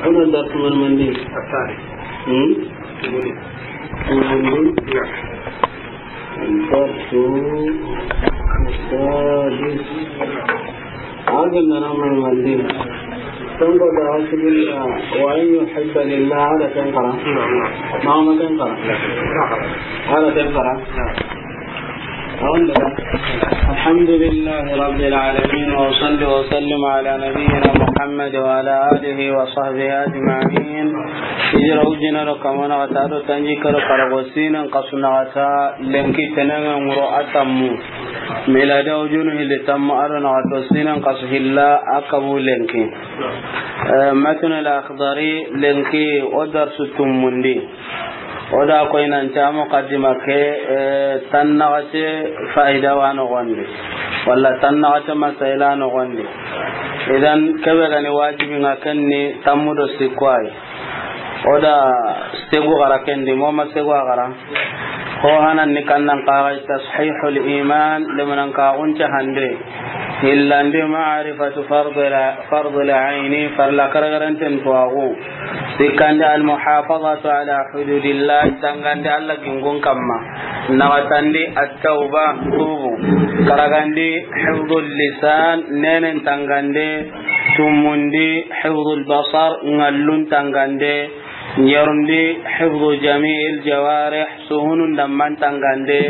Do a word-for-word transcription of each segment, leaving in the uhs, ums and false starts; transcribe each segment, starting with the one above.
Ana darsu man mandi. Asari. Hmm? Mandi. Darsu. Sadis. Aga nana man mandi. Tango da hasbillah wa an yuhibba lillah, ala kan qara. Mama kan qara. Ala kan qara. الحمد لله رب العالمين، وأصلي وأسلم على نبينا محمد وعلى آله وصحبه أجمعين. Hijira wujina do kamana kata do tanjikke do karago sinan kasu na kata lenki tenenŋe ŋuro a tammu. Miladi wujunu hilli tammu a do na kato sinan kasu hilla a kabu lenki. Eh, Matn al-Akhdari lenki o darsu tumundi. O da koy nanti a muqaddima ke, eh, tannaxate fayida wa noxondi, walla tannaxate masayila noxondi. Idan, kebe gani wajibi ŋa, ken ni tammu do sikku ay. O da segu xara ken di, moma segu a xara. Ho hanan ni kannan kaxay tashihul iman, lemanan kaxunce hande. Hillandi ma'rifatu fardul, fardul ayni, farla karagaranten tuwaxu. Sikkandi, almuhafadatu ala hududillah, tangandi Alla gingun kamma. Naxatandi, attauba, tubu. Karagandi, hifdul lisan, nenen tangande. Tumundi, hifdul basar, ŋallun tangande. Ɲerundi, hifdu jami'il jawarih, suhunun damman tangande.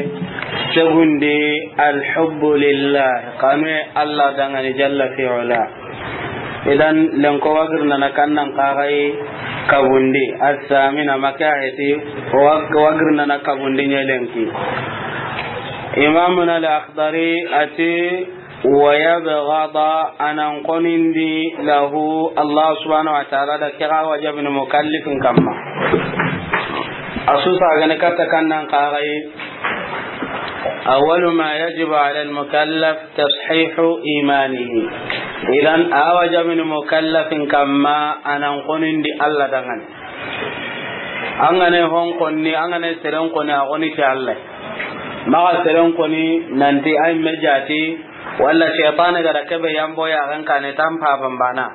Segundi, alhubbu lillah, kanwe Alla dangani jalla fi ula. Idan, lenko wagirnana kannan kaxay kabundi, assamina maka heti, wag-, wagirnana kabundi ɲelenki. Imamuna al-Akhdari ati, wa yabghada, anan konindi lahu, Allah subhanahu wa ta'ala da kira wajabni mukallifin kamma. Asusa gane katta kannan kaxay, awwalu ma yajibu ala al-mukallaf tashihu imanihi. Idan, a wajabini mukallafin kamma, anan konindi Alla dangani. An gane hon konni, an gane seren koni, a koni ti Alla. Maxa seren koni nanti ay me jati, walla shaytan ga da kebe yambo ya gan kane tan paban bana.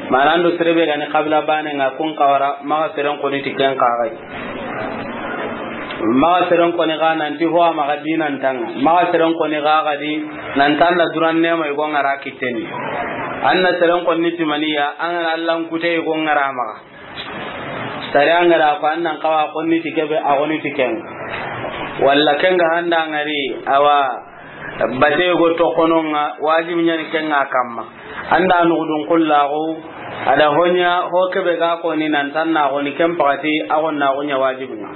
Manando serebe gani kabila bane ŋa kun kawara, maxa seren koni ti ken kaxay. Maxa seren koni ga nanti ho a maxa dinan tanga. Maxa seren koni ga gadi nan tanda duran nema yugo ŋara kiteni. Anna seren koni ti maniya, an gana Allan kute yugo ŋara maxa. Sare an gara ko annan kawa koni ti kebe, a koni ti ken. Walla ken ga handa ngari, awa, bate go to kono ŋa, wajibi ɲani ken ŋa kamma. Anda nugudun kullaxu, a da hoɲa, ho kebe ga koni nan tan na koni ken pakati, a gon na gon ɲa wajibi ŋa.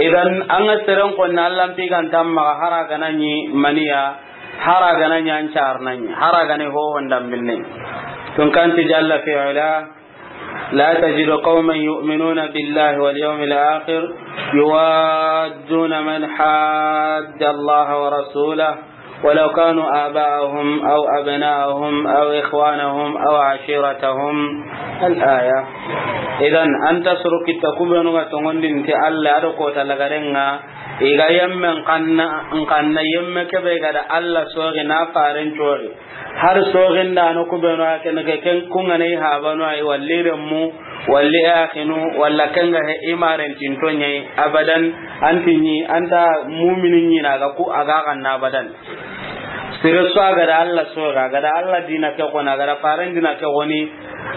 Idan, an ga seren koni Allan pigan tamma hara gana ɲi maniya, hara gana ɲi an car na ɲi, hara gana ho hondan binne. Tun kanti jalla fi ula, لا تجد قوما يؤمنون بالله واليوم الآخر يوادون من حاد الله ورسوله ولو كانوا آباءهم أو أبناءهم أو إخوانهم أو عشيرتهم. الآية. Idan, an ta soro kitta kubenu ga tongondin ti Alla a do kota lagarenga, i ga yemmen kanna, nkanna yemme kebe ga da Alla sogi na faren cogi. Har soginda no kubenu a ken ke ken kungane i habanu ay, walli remmu, walli axinu, walla kenga he i maren tinto ɲayi abadan. Anti ɲi anta mumini ɲi na ga ku a ga ganna abadan. Sire su a ga da Alla soga, a ga da Alla dina ke koni, a ga da faren dina ke koni,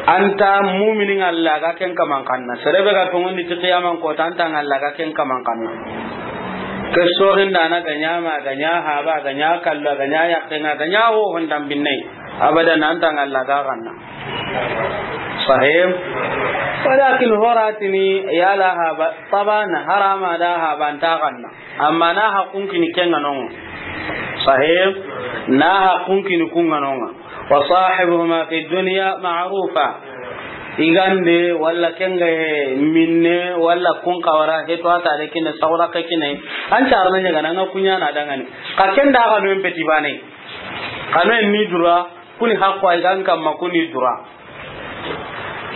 anta mumini ŋalla ga ken kaman kanna. Serebe ga tongondi ti qiyaman kota anta ŋalla ga ken kaman kanna. Ke soginda na ga ɲa ma, ga ɲa haba, ga ɲa kalla, ga ɲa yakke ŋa, ga ɲa ho hondan binne. Abadan anta ŋalla ga ganna. Sahih. Walakin horatini yala haba, taban harama da haba anta ganna. Amma na haqqun kini kenga nonga. Sahih. Na haqqun kini kunga nonga. Wa sahibuhuma fi dunya ma'rufa. Igande walla kenga he minne walla kun kawara he to ata de kine sawra ke kine. An carna ɲaga nanga kunya na dangani. Ka kenda ga no en peti bane. Kano en ni dura, kuni haqqo ay gan kamma kuni dura.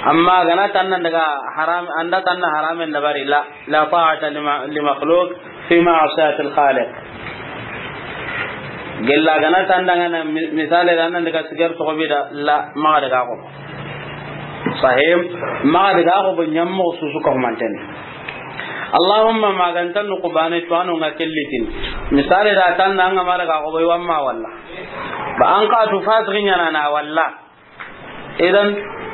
Amma gana tanna daga haram, anda tanna haramen dabari la, la ta'ata li ma-, li makhluq fi ma'siyati al-khaliq. Gella gana tandanga na mi-, misale da nan daga sigar to bi da la, maxa daga ko. Sahib, maxa daga ko bo ñammo susu ko mantene. Allahumma magantan ku bane to ano nga kellitin. Misale da tandanga ma daga ko bo wamma walla. Ba an ka tu fasri ñana na walla. Idan,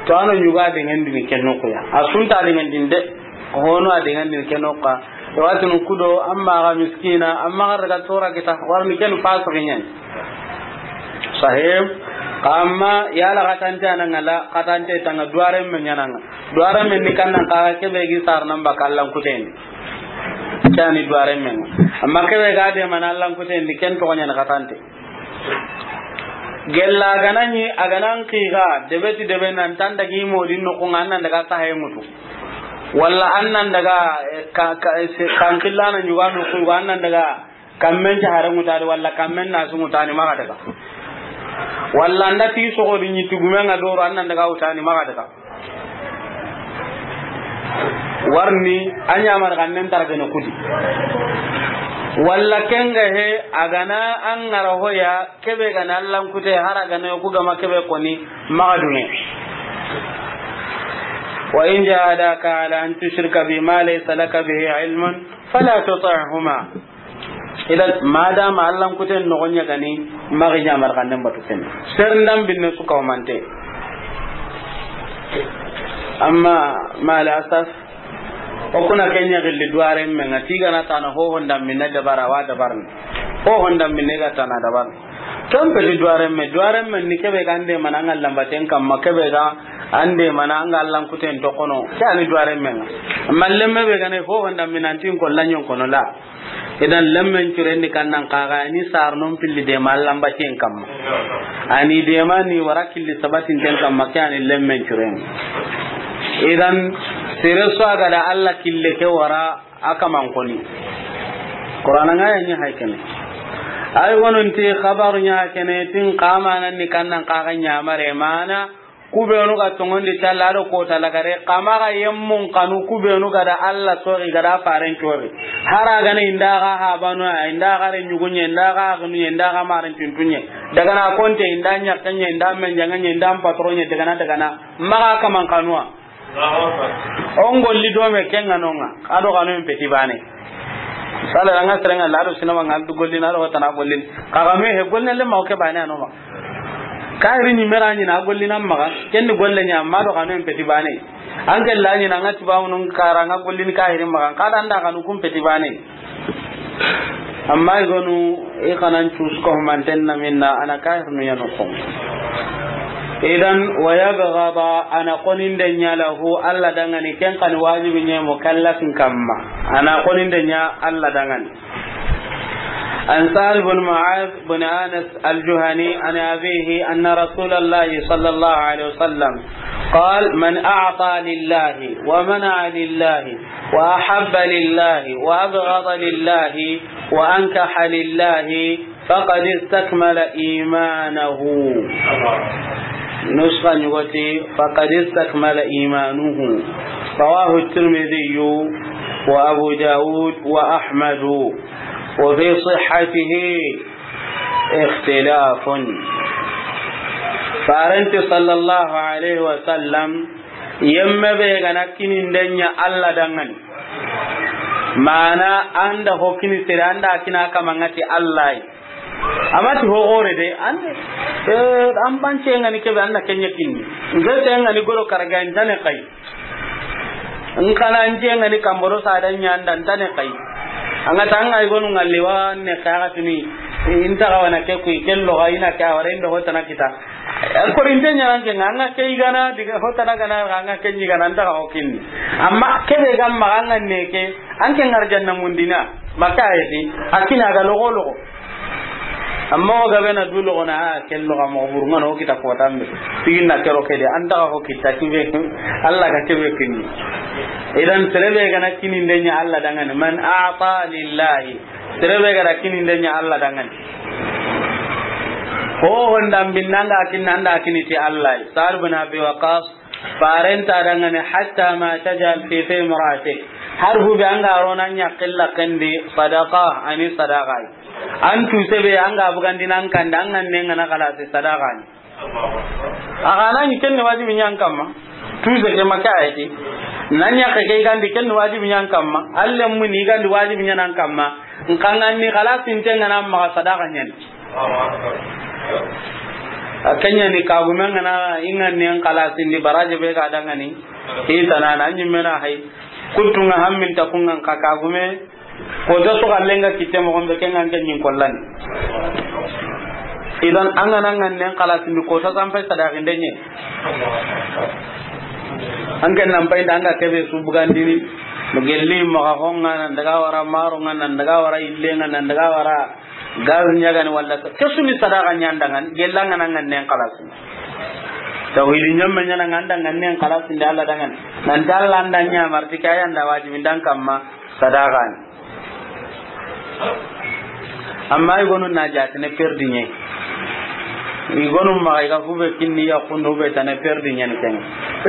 to ano ñuga dengandini ke noxuya. A sunta dengandini de. Hono a dengandini ke noxuya. Watinu kudo, amma ga miskina, amma ga daga tora kita, warni ken fasiki ñani. Sahib, kamma yala katante ananga la, katante tanga duwaren me ñananga. Duwaren me ni kannan kaga kebe gi sar namba kallan kuten. Kani duwaren me. Amma kebe ga de mana allan kuten ni ken to ñana katante. Gella gana ñi, a gana n xiga, debe ti debe nan tan dagi modin noxu nga, an nan daga sahe ŋutu. Walla an nan daga, eh, ka, ka, eh, se-, kan xillana ñuga noxu, an nan daga kammen cahare ŋutadi, walla kammen nasu ŋutani maxa daga. Walla an da ti soxodi ñi tigumen nga doro, an nan daga wutani maxa daga. Warni a ñamar gannen targene kudi. Walla kenga he, a gana an ngara hoya, kebe gana allan kute, hara gana yoku gama kebe koni, maxa dunge. Wa in jahadaka ala an tushrika bi ma laysa laka bihi ilmun, fala tuti'huma. Idan, madama allan kuten noxo ñagani, maxi ñamar xannen batu ken. Seren dan binne su kawmante. Amma, ma al asaf, o kuna kenya gilli duwaren me nga, tigana tana hohon dan binne dabara wa dabarni. Hohon dan binne ga tana dabarni. Ken peti duwaren me, duwaren me ni kebe ga ande mana nga lambaten kamma, kebe ga ande mana nga allan kuten to kono. Kani duwaren me nga. Amma lemme be gane hohon dan binne antin ko lanyon kono la. Idan lemmen curen ni kannan kaga ni sarnon pilli de ma allan bacen kamma. Ani de ma ni wara killi sabatin ten kamma, ke ani lemmen curen. Idan sere so a ga da Allah kille ke wara a kaman koni. Qur'ana nga ya ñi hay kene. Ay wonon ti xabaru ña kene tin kamanan ni kannan kaga ñamare mana. Kubenu ga tongondi talla do kota lagare, kama ga yemmun kanu kubenu ga da Allah sori, ga da faren sori. Hara gana inda ga habanu, inda ga re ñugunye, inda ga gnuye, inda ga marin tuntunye. Daga na konte, inda ñakkenye, inda menjanganye, inda patronye, daga na, daga na. Maga kaman kanuwa. On golli do me kenga nonga. Ado kanu en peti bane. Sala ranga serenga lado sinama ngal du golli na do tana golli. Kaga me he golli le ma o ke bane anoma. Kahiri ni mera ni na golli na maga, ken ni golle nya ma do kanu en peti bane. An ke la ni na ngati ba mun kara nga golli ni kahiri maga, kada anda kanu kun peti bane. Amma i gonu i kanan cus ko manten na minna ana kahir nu yanu ko. Idan wa yabghada, ana koninde nya lahu, Allah dangani, ken kan wajibi ne mukallafin kamma. Ana koninde nya Allah dangani. عن سهل بن معاذ بن أنس الجهني عن أبيه أن رسول الله صلى الله عليه وسلم قال: من أعطى لله ومنع لله وأحب لله وأبغض لله وأنكح لله فقد استكمل إيمانه. نسخة نيغوتي: فقد استكمل إيمانه. رواه الترمذي وأبو داود وأحمد. وفي صحته اختلاف. Farenti صلى الله عليه وسلم, yemme be gana kininde nya Allah dangani. Mana anda ho kini sere, anda kina kamangati Allah. Amati ho gore de, an, eh, an bance ngani kebe anda kenya kinni. Nze te ngani goro karga intane kai. Nkana nje ngani kamboro sada nya anda ntane kai. Anga tanga igonu ngalli wa ne kaga tuni. Inta ga wana ke kui kello ga ina ka wara indo hotana kita. Ko rinte nya ke nga ke igana diga hotana gana nga ke ni gana nta ga hokin. Amma kebe gamma nga ne ke an ke ngar janna mundina. Maka ayati akina ga logo logo. Amma o gabe na du logo na, a, ken logo mo buru ngano kita ko tambe. Sigin na kero kede, anta ko kita kibe, Allah ga kebe kinni. Idan sere be gana kininde nya Allah dangani, man a'ta lillahi. Sere be gana kininde nya Allah dangani. Ho honda binanga kinanda kiniti Allah. Sa'd bin Abi Waqqas, farenta dangani, hatta ma tajal fi fi imra'atik. Har hube anga rona nya qilla kandi sadaqa, ani sadaqa. An tu sebe an ga bugandini an kanda, an ga ne ŋa na xalasi, sadaxa ni. A ga na ɲi ken ni wajibi ɲa an kamma. Tu se ke ma ke a yi ti. Na ɲa ke ke i ga ndi ken ni wajibi ɲa an kamma. Alle mu ni i ga ndi wajibi ɲa na an kamma. N xa ŋa ni xalasi n te ŋa na maxa, sadaxa ɲa ni. A ke ɲa ni kagume ŋa na i ŋa ni an xalasi ndi baraje be ga da ŋa ni. I tana na ɲi me na hay. Kuttu ŋa hammin ta ku ŋa n xa kagume. Ko ta su xalle ŋa kitte moxo be, ke ŋa ke ɲi n kollani. Idan an ga na ŋa ni an xalasi ndi, ko ta san pay sadaxi nde ɲe. An ke nan pay nda an ga kebe su bugandini. Mo gelli maxa xo ŋa, nan daga wara maro ŋa, nan daga wara ille ŋa, nan daga wara gaz ɲa ga ni, walla ke su ni sadaxa ɲa nda ŋa ni, gella ŋa na ŋa ni an xalasi. Tawhidi ɲamme ɲa na ŋa nda ŋa ni an xalasi ndi Alla da ŋa ni. Nan da Alla nda ɲa marti ka ya nda wajibi nda an kamma, sadaxa ni. Amma i gonu na jatene perdi ɲe. I gonu maxa i ga hube kinni ya kundu hube tana perdi ɲe ni ken.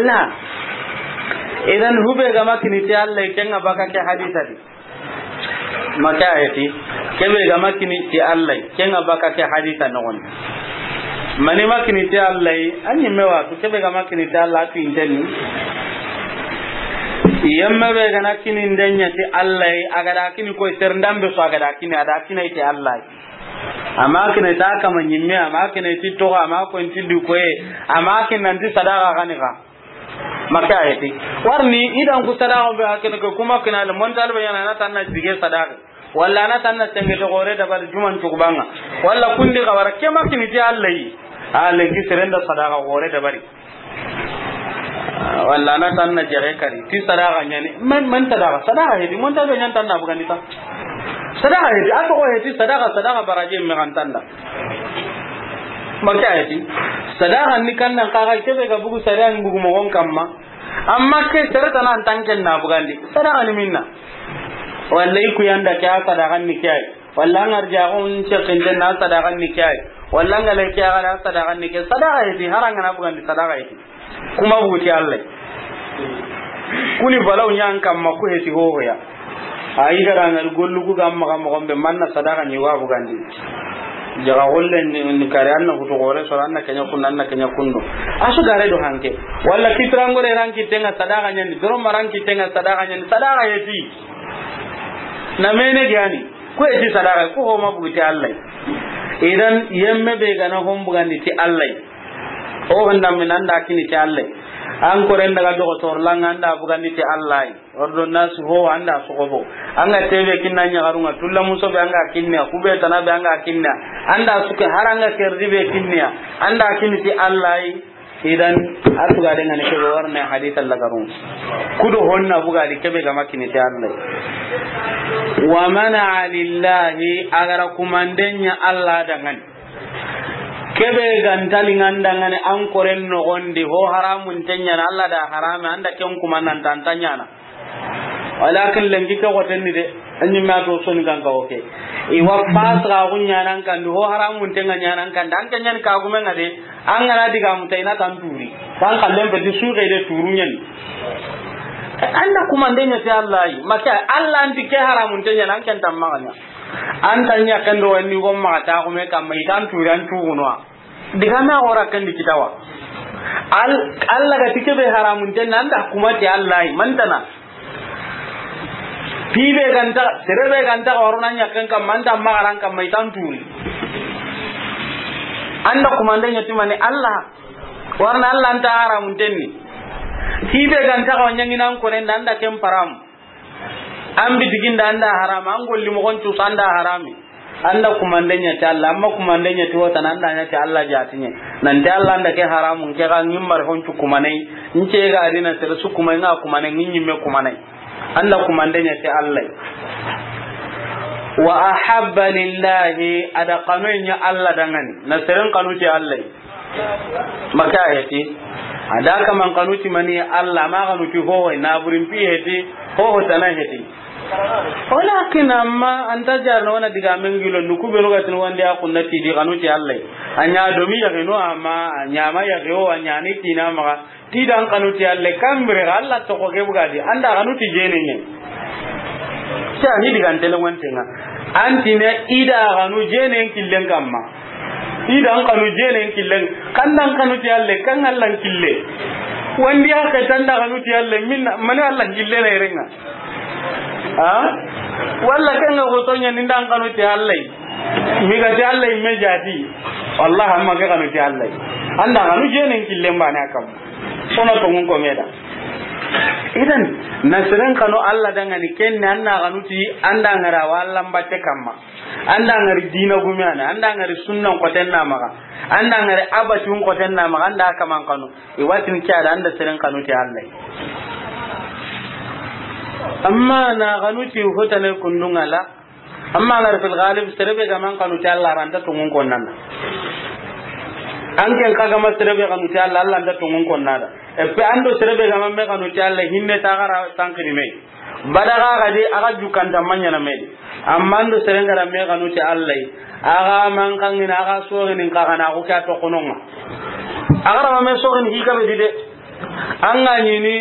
La. Idan hube ga ma kini ti Alla, ken ŋa baka ke hadisa di. Ma ke a yi ti, kebe ga ma kini ti Alla, ken ŋa baka ke hadisa noxon. Mani ma kini ti Alla, a ɲi me wa tu, kebe ga ma kini ti Alla, a tu inteni. Yemme be ga na kini nde ɲa ti Alla, a ga da kini koy sere ndambe so, a ga da kini, a da kini ti Alla. Amma kini ta kama ɲimme, amma kini ti toxo, amma ko ti du koye, amma kini nan ti sadaxa ga ni ga. Ma ke a yi ti. Warni idan ku sadaxa be hakene ko kuma kina le montal be ɲa na, na tanna dige sadaxa. Walla na tanna senge to gore da bal juman tukuba ŋa. Walla kundi ga wara ke ma kini ti Alla yi. A lenki sere nda sadaxa gore da bari. Walla na tanna jere kari. Ti sadaxa ɲa ni. Man, man sadaxa. Sadaxa heti. Montal be ɲa na tanna bugandi ta. Sadaxa heti. A toxo heti sadaxa, sadaxa baraje me ga n tanda. Ma ke a yi ti. Sadaxa ni kan nan xa ga kebe ga bugu sadaxa ni bugu moxon kamma. Amma ke sere tana an tanken na bugandi. Sadaxa ni minna. Walla i ku ya nda ke a sadaxa ni ke a yi. Walla an arjaxun cekinten na sadaxa ni ke a yi. Walla an ga le ke a ga da sadaxa ni ke. Sadaxa heti har an ga na bugandi sadaxa heti. Kuma bugu ti Alla. Kuni balaw ɲa an kamma ku heti hoho ya. A yi ga da ŋa ni gollu ku ga maxa moxo be manna sadaxa ni wa bugandi. Jaga golle ni, ni kare an na hutu gore so an na ke ɲa kundu, an na ke ɲa kundu. A su gare do hanke. Walla kitirangore ran kitte ŋa sadaxa ɲa ni, doro maran kitte ŋa sadaxa ɲa ni, sadaxa heti. Na mene gani. Ku heti sadaxa, ku ho ma bugu ti Alla. Idan yemme be ga na hon bugandi ti Alla. O honda min an da kini ti Alla. An koren daga dogotor langa an da bugandi ti Alla. Ordonnance ho an da sogobo. An ga tebe kinna ɲaxarun ŋa tulla muso be an ga kinne, ku be tana be an ga kinne. An da suke har an ga kerdi be kinne. An da kini ti Alla. Idan a tuga de ŋa ni kebe warne hadith Alla garun. Kudo honna bugadi kebe ga ma kini ti Alla. Wa mana lillahi, a ga ra kumanden ɲa Alla da ŋa ni. Kebe ga nta li ŋa nda ŋa ni an koren noxon di, ho haramun te ɲa na, Alla da harame, an da ken kuma nan ta an ta ɲa na. Walakin lenki ke xoten ni de, an ɲi ma to soni kan ka oke. I wa fas ga gu ɲa nan kan di, ho haramun te ŋa ɲa nan kan di, an ke ɲa ni ka gume ŋa de, an ga na diga mu ta i na tan turi. Kan kallen be di su ga de turu ɲa ni. An da kumanden ɲa ti Alla yi, ma ke Alla an ti ke haramun te ɲa na, an ken tan maxa ɲa. An ta ɲa ken do ni go maxa ta gume kamma i tan turi an tuguno. Diga me a xora ken di kitawa. Al-, Alla ga ti kebe haramun te ɲa na, an da kuma ti Alla yi, man tana. Ti be ga nta, sere be ga nta xoro na ɲa ken kamma, an da maxa ran kamma i tan turi. An da kumanden ɲa ti mani Alla. Warna Alla an ta haramun te ni. Ti be ga nta xo ɲa ŋi nan koren da, an da ken param. An bitiginda an da harami, an golli moxon cuusa an da harami. An da kumande ɲa ti Alla, amma kumande ɲa ti wotana an da ɲa ti Alla jatiɲe. Nanti Alla an da ke haramun ke ga ŋimmari hon cu kumanai. N ce ga dina sere su kumai ŋa kumanai, ŋi ɲimme kumanai. An da kumande ɲa ti Alla. Wa ahabba lillahi, a da kanu ɲa Alla dangani. Na seren kanu ti Alla. Maka heti. A da kaman kanu ti mani Alla, ma kanu ti hoho, na burin pi heti, hoho tana heti. Walakin amma an ta jarna wona diga men gilo nuku be no gatin wande a kunna ti di kanu ti Alla. A ɲa domi ya no amma a ɲa ma ya o a ɲa ni ti na ma ti dan kanu ti Alla kambire Alla to ko ke bugadi an da kanu ti jene ɲe. Sa ni diga ntele wante nga. An ti na i da xanu jenen killen kamma. I da n xanu jenen killen. Kan da n xanu ti Alla, kan Alla n kille. Wandi ya ke tan da xanu ti Alla, min mani Alla n kille na irenga. Ha? Walla kan ga gotonya ni da n xanu ti Alla. Mi ga ti Alla me jati. Wallahi amma ke xanu ti Alla. An da xanu jenen killen bane a kamma. Sona tongun ko me da. Idan, na seren xanu Alla dangani, ken ni an na xanu ti an da ŋara wa Alla n batte kamma. An da ŋari dina gumiyana, an da ŋari sunnan xoten na maxa. An da ŋari abatun xoten na maxa, an da kaman xanu. I watin ke a da an da seren xanu ti Alla. Amma na xanu ti hotane kundunga la, Amma an ga ri fil ghalib, sere be ga ma an xanu ti Alla, a ra nta tongun konnana. An ken xa ga ma sere be xanu ti Alla, Alla nta tongun konnada. Et puis an do sere be ga ma me xanu ti Alla, hinne ta ga ra sankini me. Bada ga ga di, a ga jukanta manyana me di. Amma an do sere ga ra me xanu ti Alla, a ga ma an xangini, a ga soxini, xa ga na ko ke a toxononga. A ga ra ma me soxini hi ga be di de. An ga ɲini,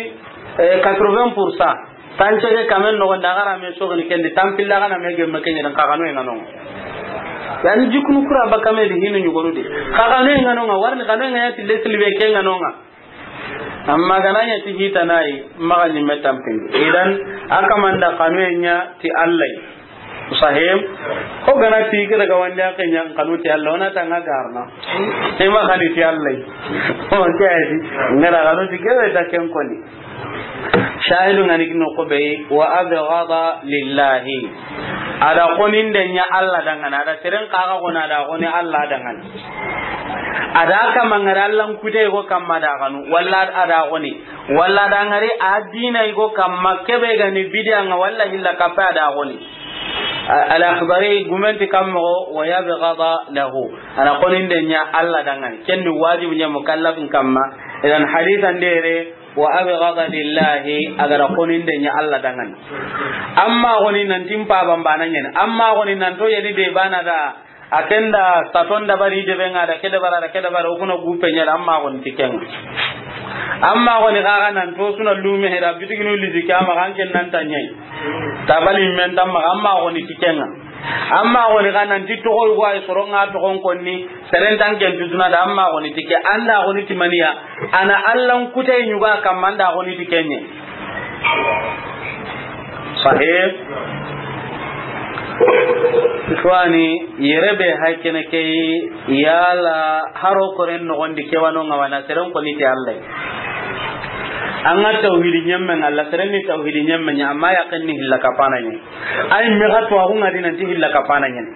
eh, quatre-vingts pour cent. Tance ke kamen noxon da, a ga ra me soxini ken di, tanpilla a ga na me gemme ken ɲa, xa xanu e ŋa no ŋa. Yani jikunu kura ba kame di hinu ɲugonu di. Xa xanu e ŋa no ŋa, warni xanu e ŋa ya ti lesli be ke ŋa no ŋa. Amma ga na ɲa ti hitanayi, maxa ɲimme tanpindi. Idan, a kaman da xanu e ɲa ti Alla. Sahim. Ko ga na ti ke daga wandi a ke ɲa xanu ti Alla, o na ta ŋa garna. E ma xanu ti Alla. O ke a yi ti, ŋa ra xanu ti ke be ta ken koni. Shahidu ŋa ni kino ko be, wa abghada lillahi. A da xoninde ɲa Alla dangana, a da seren xa ga xoni, a da xoni Alla dangana. A da kama ŋari Alla n kute ko kamma da xanu, walla a da xoni, walla da ŋari a dina ko kamma, ke be ga ni bidiya ŋa, walla hilla kappe a da xoni. Al-Akhdari gumenti kammo, wa yabghada lahu. A da xoninde ɲa Alla dangana. Ken ni wajibu ɲa mukallafin kamma. Idan hadithan dere, wa abghada lillahi, a ga ra xoninde ɲa Alla dangana. Amma xoni nan ti n paba n bana ɲene. Amma xoni nan to yani de bana da, a ken da saton dabari de be ŋa da ke dabara da ke dabara, o kuna gupe ɲa da, amma xoni ti ken ŋa. Amma xoni xa ga nan to suna lume hera bitiginu lidi kama kan ken nan ta ɲai. Tabali men tamma, amma xoni ti ken ŋa. Amma xoni xa nan ti toxo yugo ay soron ŋa toxon konni, seren tan ken tutuna da, amma xoni ti ke, an da xoni ti maniya, a na Alla n kute ɲuga kamma, an da xoni ti ken ɲe. Sahih. Ikhwani, yere be haykene ke yala haro koren noxon di ke wano ŋa wa na seren xoni ti Alla. An ga tawhidi ɲemme ŋa, Alla seren ni tawhidi ɲemme ɲa, amma yaqin ni hilla kapana ɲa. Ay, me ga to, a xo ŋa di nan ti hilla kapana ɲene.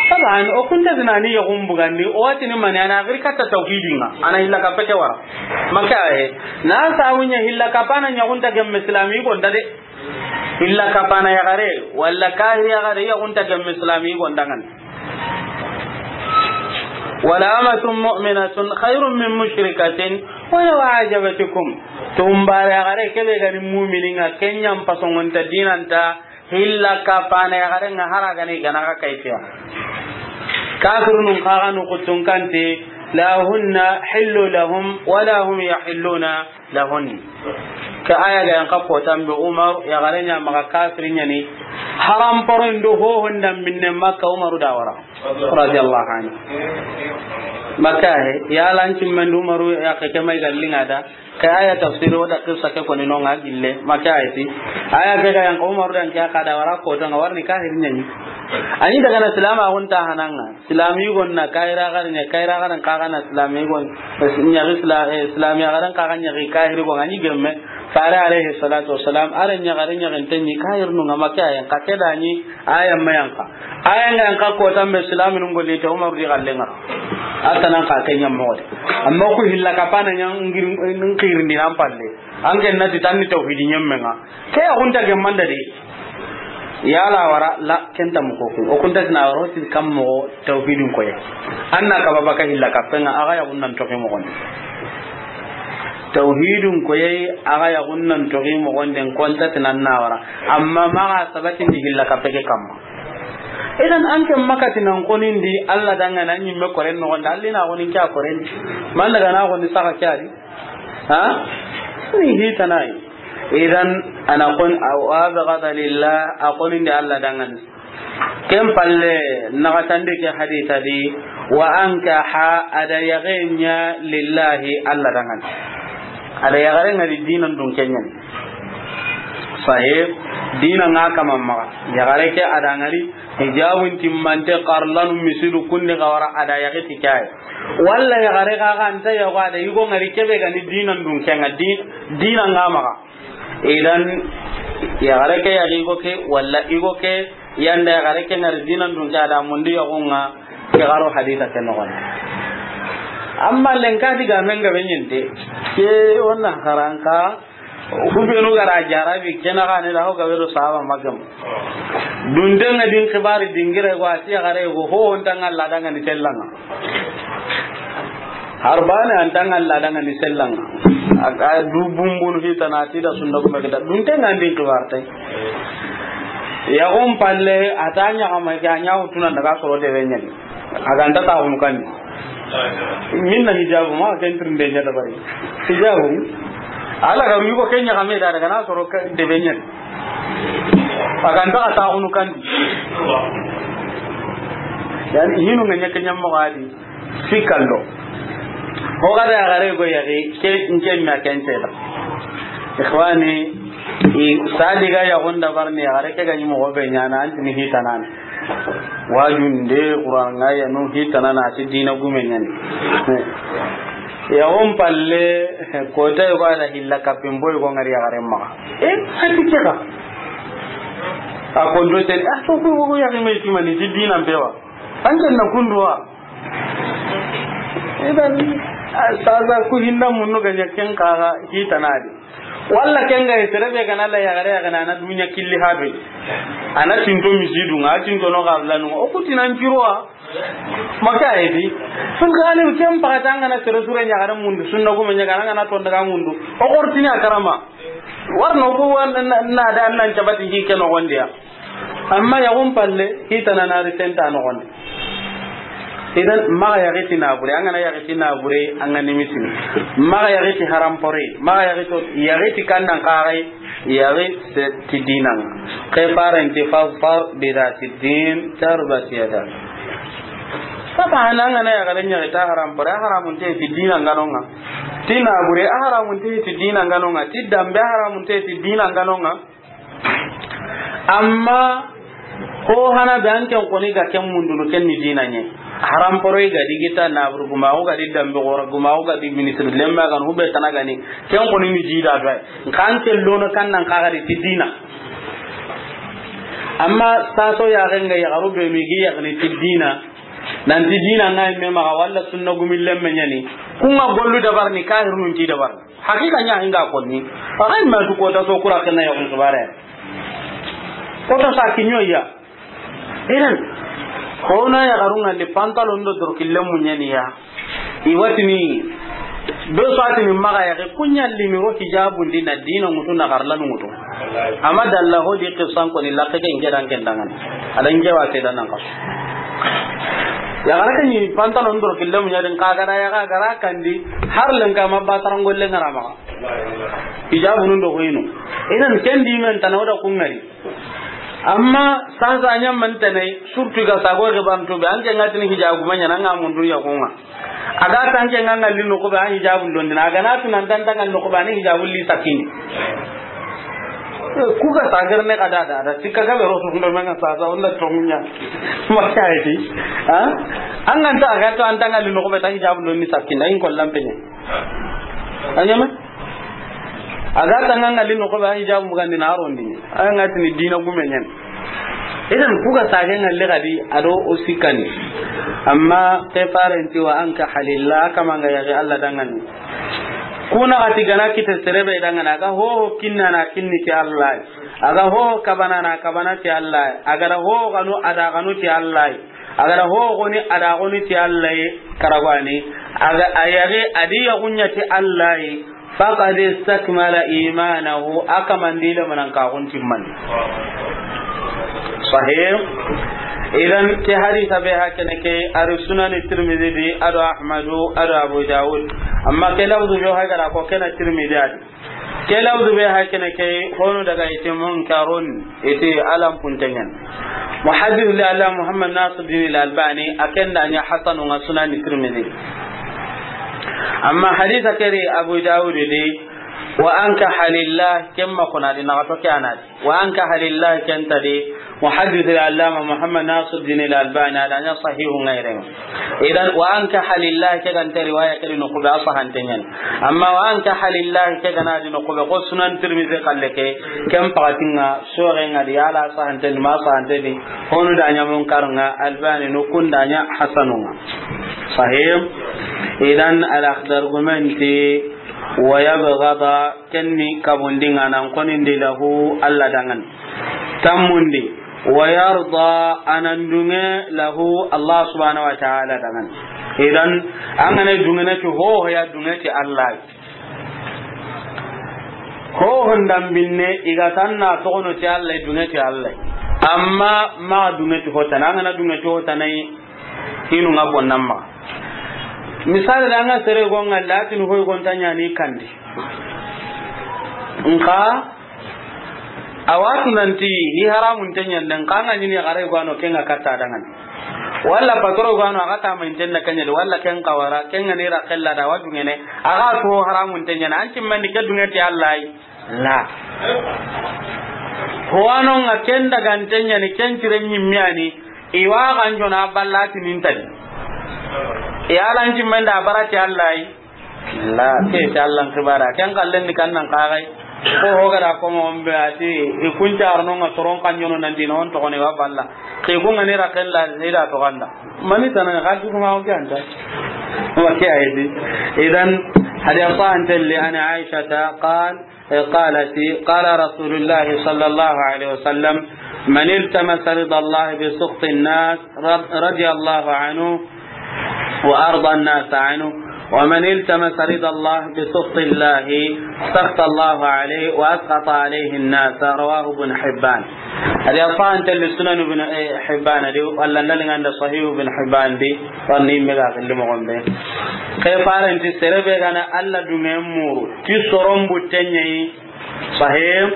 Taban, o kunta ti na ni yaxun bugandi, o wa ti ni mani, a na giri katta tawhidin ŋa, a na hilla kappe ke wara. Maka aye, na sabu ɲa hilla kapana ɲa xunta gemme silami gonda de. Hilla kapana yaxare, walla kahiri yaxare, ya xunta gemme silami gonda ŋa ni. Wala amatun mu'minatun khairun min mushrikatin walaw a'jabatkum. Tumbare yaxare ke be ga ni mu'mini ŋa, ken ɲa n pasongonta dinanta, hilla kapana yaxare ŋa, hara ga ni gana ga kayfiya. Kafirunun xa ga nu kutun kanti, la hunna hillu lahum wala hum yahilluna lahun. Ke aya ga yan xa kotan be, Umar yaxare ɲa maxa kafiri ɲa ni, haram poro ndo ho honda minne Makka, Umaru da wara, radiyallahu anhu. Makka he, ya lan cimmen Umaru ya ke, ke may gallinga da, ke aya tafsir o da qissa ke koni no ŋa gille, Makka he ti. Aya ke ga yan xa Umaru dan ke ka da wara ko to ŋa, warni kahiri ɲa ni. Ani daga na silama gonta hananga. Silami gonna, kahira garan ɲa, kahira garan kaga na silami gon, ɲa ri sila-, eh, silami garan kaga ɲa ri kahiri gon, ani gemme. Fare alayhi salatu wassalam, are ɲa garan ɲa garan tanni kahir nu ŋa Makka yan, ka ke da ni aya ma yan ka. Aya ŋa yan ka ko tambe silami nun golli te Umar di gallenga. Atanan ka ke ɲa mo de. Amma ku hilla kapana ɲa ngir, ngir ndi nan palle. An ken na ti tanni tawhidi ɲemme ŋa. Ke ya gunta gemmanda de. Yala wara la, kenta mo ko. O kunta na waro ti kam mo tawhidun koye. Anna ka baba ka hilla kapenga, aga ya gunnan toke mo gon. Tawhidun koye, aga ya gunnan toke mo gon den konta tinan na wara. Amma maga sabati ndi hilla kapeke kamma. Idan an ke makati nan konindi Alla danga nan nyimme koren no gonda, Alla na gonin kya koren. Man daga na goni saka kyari. Ha? Ni hita nayi. Idan, a na xo ni, wa abghada lillah, a xo ni ndi Alla danŋa ni. Ken palle, naxatandi ke hadisa di, wa ankaha, a da yaxe ɲa lillahi, Alla danŋa ni. A da yaxare ŋari dinan dunke ɲa ni. Sahih, dina ŋa kama maxa. Yaxare ke a da ŋari, hijabun timmante, xarlanu misidu kundi xawara, a da yaxe ti ke ya. Walla yaxare xa xa nta yaxo, a da yigo ŋari kebe ga ni dinan dunke ŋa, di-, dina ŋa maxa. Idan, yaxare ke yaxi yigo ke, walla yigo ke yanda yaxare ke ŋari dinan dunke, a da mundi yaxun ŋa, ke xaro hadisa ke noxon. Amma lenki digamen gabe ɲi nte, ke wona xaranka, Ku benu ga ra jarabi, ke na xa ne da, ho gabe do sahaba ma gam. Dunte ŋa din xibari dingire go, a ti yaxare go, ho, o nta ŋa Alla danŋa ni sella ŋa. Harbane a nta ŋa Alla danŋa ni sella ŋa. A, a du bunbunu hitana ti da sunna gume kita. Dunte ŋa din xibar tay. Yaxun palle, a ta ɲaxama ke, a ɲa wutuna daga soro debe ɲa ni. A ga nta taaxunu kandi. Minna hijabu ma, ken tirinde ɲa dabari. Hijabu. Alla ga ru yigo ke ɲaxame da, daga na soro ka-, debe ɲa ni. A ga nta xa taaxunu kandi. Yani, hinu ŋa ɲa ke ɲa moxo a di. Sikallo. Ho ga da yaxare go yaxi, ke, nke ma ken te da. Ikhwani, i sadi ga yaxun dabarini, yaxare ke ga ɲi moxo be ɲaana, a nti ni hitana ni. Wajunde, Qur'an ŋa ya no hitana na, a ti dina gume ɲa ni. Yaxun palle, kota yogo a da hilla kapin boy go ŋari yaxare maxa. E, a ti ke xa. A kondo tene, a to ko, ko yaxi me ti mani, ti dina mpe wa. An ke na kundu wa. Idan, a, sasa ku hinna munnu ga ɲa ken xa ga hitana di. Walla ken ga sere be ga na la yaxare ya ga na, na dunya killi ha be. A na tinto misidu ŋa, a tinto no xarlanu ŋa. O ku ti nan ciro wa. Maka edi. Sun ga ne ken paxata ŋa na sere sure ɲaxare mundu, sunna gume ɲaxare ŋa na to daga mundu. O xortini a karama. Warno ko wa na, na, na da nan cabati ji ke noxon di ya. Amma yaxun palle, hitana na ri senta noxon di. Idan, maxa yaxi ti nabure, an ga na yaxi ti nabure, an ga nimisini. Maxa yaxi ti harampore, maxa yaxi to, yaxi ti kannan xaxay, yaxi se ti dinan. Ke faren ti fazfar bi zati din, tarbat yadak. Saba hana an ga na yaxare ɲaxi ta harampore, a haramunte ti dinan ŋa no ŋa. Ti nabure, a haramunte ti dinan ŋa no ŋa. Ti dambe, a haramunte ti dinan ŋa no ŋa. Amma ho hana be an ken xoni ga ken mundunu ken ni dina ɲa. Haramporoy ga di gita naburu gumaxu ga di dambe xora gumaxu ga di ministre lemma ga hube tana ga ni ken xoni ni dida do ay. Nkan ke lono kannan xa ga di ti dina. Amma saso yaxen ga yaxaru be mi gi yaxni ti dina. Nanti dina ŋa me maxa walla sunna gumi lemme ɲa ni. Ku ŋa gollu dabarini, kahirunun ti dabarini. Hakika ɲa hinga konni. Faxay ma su kota so kura kenna yaxun xibare. Kota sa kiɲo ya. Idan, xona yaxarun ŋa li pantalon do dorkille mu ɲa ni ya. I watini, be so a tini maxa yaxi, ku ɲa li mi ro hijabun di na dina ŋutu na xarlanu ŋutu. Amma dalla ho di qisan koni lakke ke nke dan ken dangan. A da nke wa ke dan nan ka. Yaxare ke ni pantalon dorkille mu ɲa din xa ga da yaxa ga ra kandi, har lenki ma ba tarangolle ŋa ra maxa. Hijabunun do hoyinu. Idan ken di men tana o da ku ŋari. Amma sasa ɲa man tanai, surtout ga sago xibaru to be, an ke ŋa tini hijabu ma ɲa na ŋa mundu yaxun ŋa. A ga ta an ke ŋa ŋalli noxo be, an hijabun londini. A ga na tu nan ta an ta ŋalli noxo be, an hijabun li sakini. Eh, ku ga sagar ne ka da da, da, tikka ga be ro su ndo men ŋa sasa, wala to munya. Ma ka yi di. Ha? An ga nta a ga to an ta ŋalli noxo be, ta hijabun londini sakini, an ko lampe ne. A ɲa me? A ga ta ŋa ŋalli noxo be, a hijabu mugandi na a rondi. A ŋa tini dina gume ɲa ni. Idan ku ga sage ŋalli xadi a do o sikkani. Amma ke faren ti wa ankaha lillah, kama ŋa yaxi Alla dangan ni. Ku na xati ga na kite sere be dangan ni, a ga ho ho kinna na kinni ti Alla. A ga ho ho kabana na kabana ti Alla. A ga da ho ho xanu a da xanu ti Alla. A ga da ho xoni a da xoni ti Alla ye, karagwani. A ga a yaxi a di yaxun ɲa ti Alla ye, faqad istakmala imanahu, a kamandi lemanan ka xun timmani. Sahih. Idan ke hadisa be hakene ke, a ri Sunani Tirmidhi di, a do Ahmadu, a do Abu Dawud. Amma ke lafzu be ha ga da ko ke na Tirmidhi a di. Ke lafzu be hakene ke, honu daga ite munkarun, ite alam puntenyan. Muhaddis li Allah Muhammad Nasiruddin al-Albani, a ken da ɲa hasanun ŋa Sunan Tirmidhi. Amma hadisa keri Abu Dawud di, wa ankaha lillah, kemma kuna di na to ke anadi. Wa ankaha lillah ken ta di, Muhaddis al-Allama Muhammad Nasiruddin al-Albani a da ɲa sahihu ŋa yere. Idan, wa ankaha lillah ke ga nta riwaya ke di no kube a sahantenyan. Amma wa ankaha lillah ke ga na di no kube ko Sunan Tirmidhi kalle ke, ken pakatinga, sorenga di, ala sahanten ma sahanten di, honu da ɲa munkarun ŋa, Albani no kun da ɲa hasanun ŋa. Sahih. Idan, al-Akhdar gumenti, wa yabghada, kenni kabundinga nan konindi lahu Allah dangan. Tammundi, wa yarda, anan dunge lahu Allah subhanahu wa ta'ala dangan. Idan, an gane dunge na ti ho ya dunge ti Allah. Ho hondan binne iga tanna togono ti Allah, dunge ti Allah. Amma ma dunge ti hotana, an gana dunge ti hotana yi, hinu nga bonnan ma. Misali da nga sere gonga latin hoy gonta ɲani kandi. Nka, a watu nanti, hi haramun tenyande, nka nga ɲini gare gwano kenga katta dangani. Walla patro gwano a kata ma intenna kanyade, walla ken kawara, kenga nira kella da wadu ngene, a ga to haramun tenyana, anti mandi ke dunge ti Allah yi. La. Howano nga ken daga ntenyani, ken cire ɲimmiyani, iwa ganjona ballati nintadi. Yalanci menda barati Allah yi. La, ke ti Allah kibara. Ken kallen di kannan kagai. Ko hogara ko mo mbe ati, i kuncarno nga soron kanjono nan dino on to ne wa balla. Ke ko ngani rakella ida to ganda. Mani tana ga ti kuma o ganda. Wa ke aydi. Idan, hadi afa antelli an Aisha ta qal, قالت: قال رسول الله صلى الله عليه وسلم: من التمس رضا الله بسخط الناس رض-، رضي الله عنه وأرضى الناس عنه، ومن التمس رضا الله بسخط الله سخط الله عليه وأسخط عليه الناس. رواه ابن حبان. Hadi afa antelli Sunan Ibn, eh, Hibban di, walla ndali nganda Sahih Ibn Hibban di, wani mega gilli mo gombe. Ke faranti serebe gana Allah dunge muru, ti soron buttenye yi. Sahih.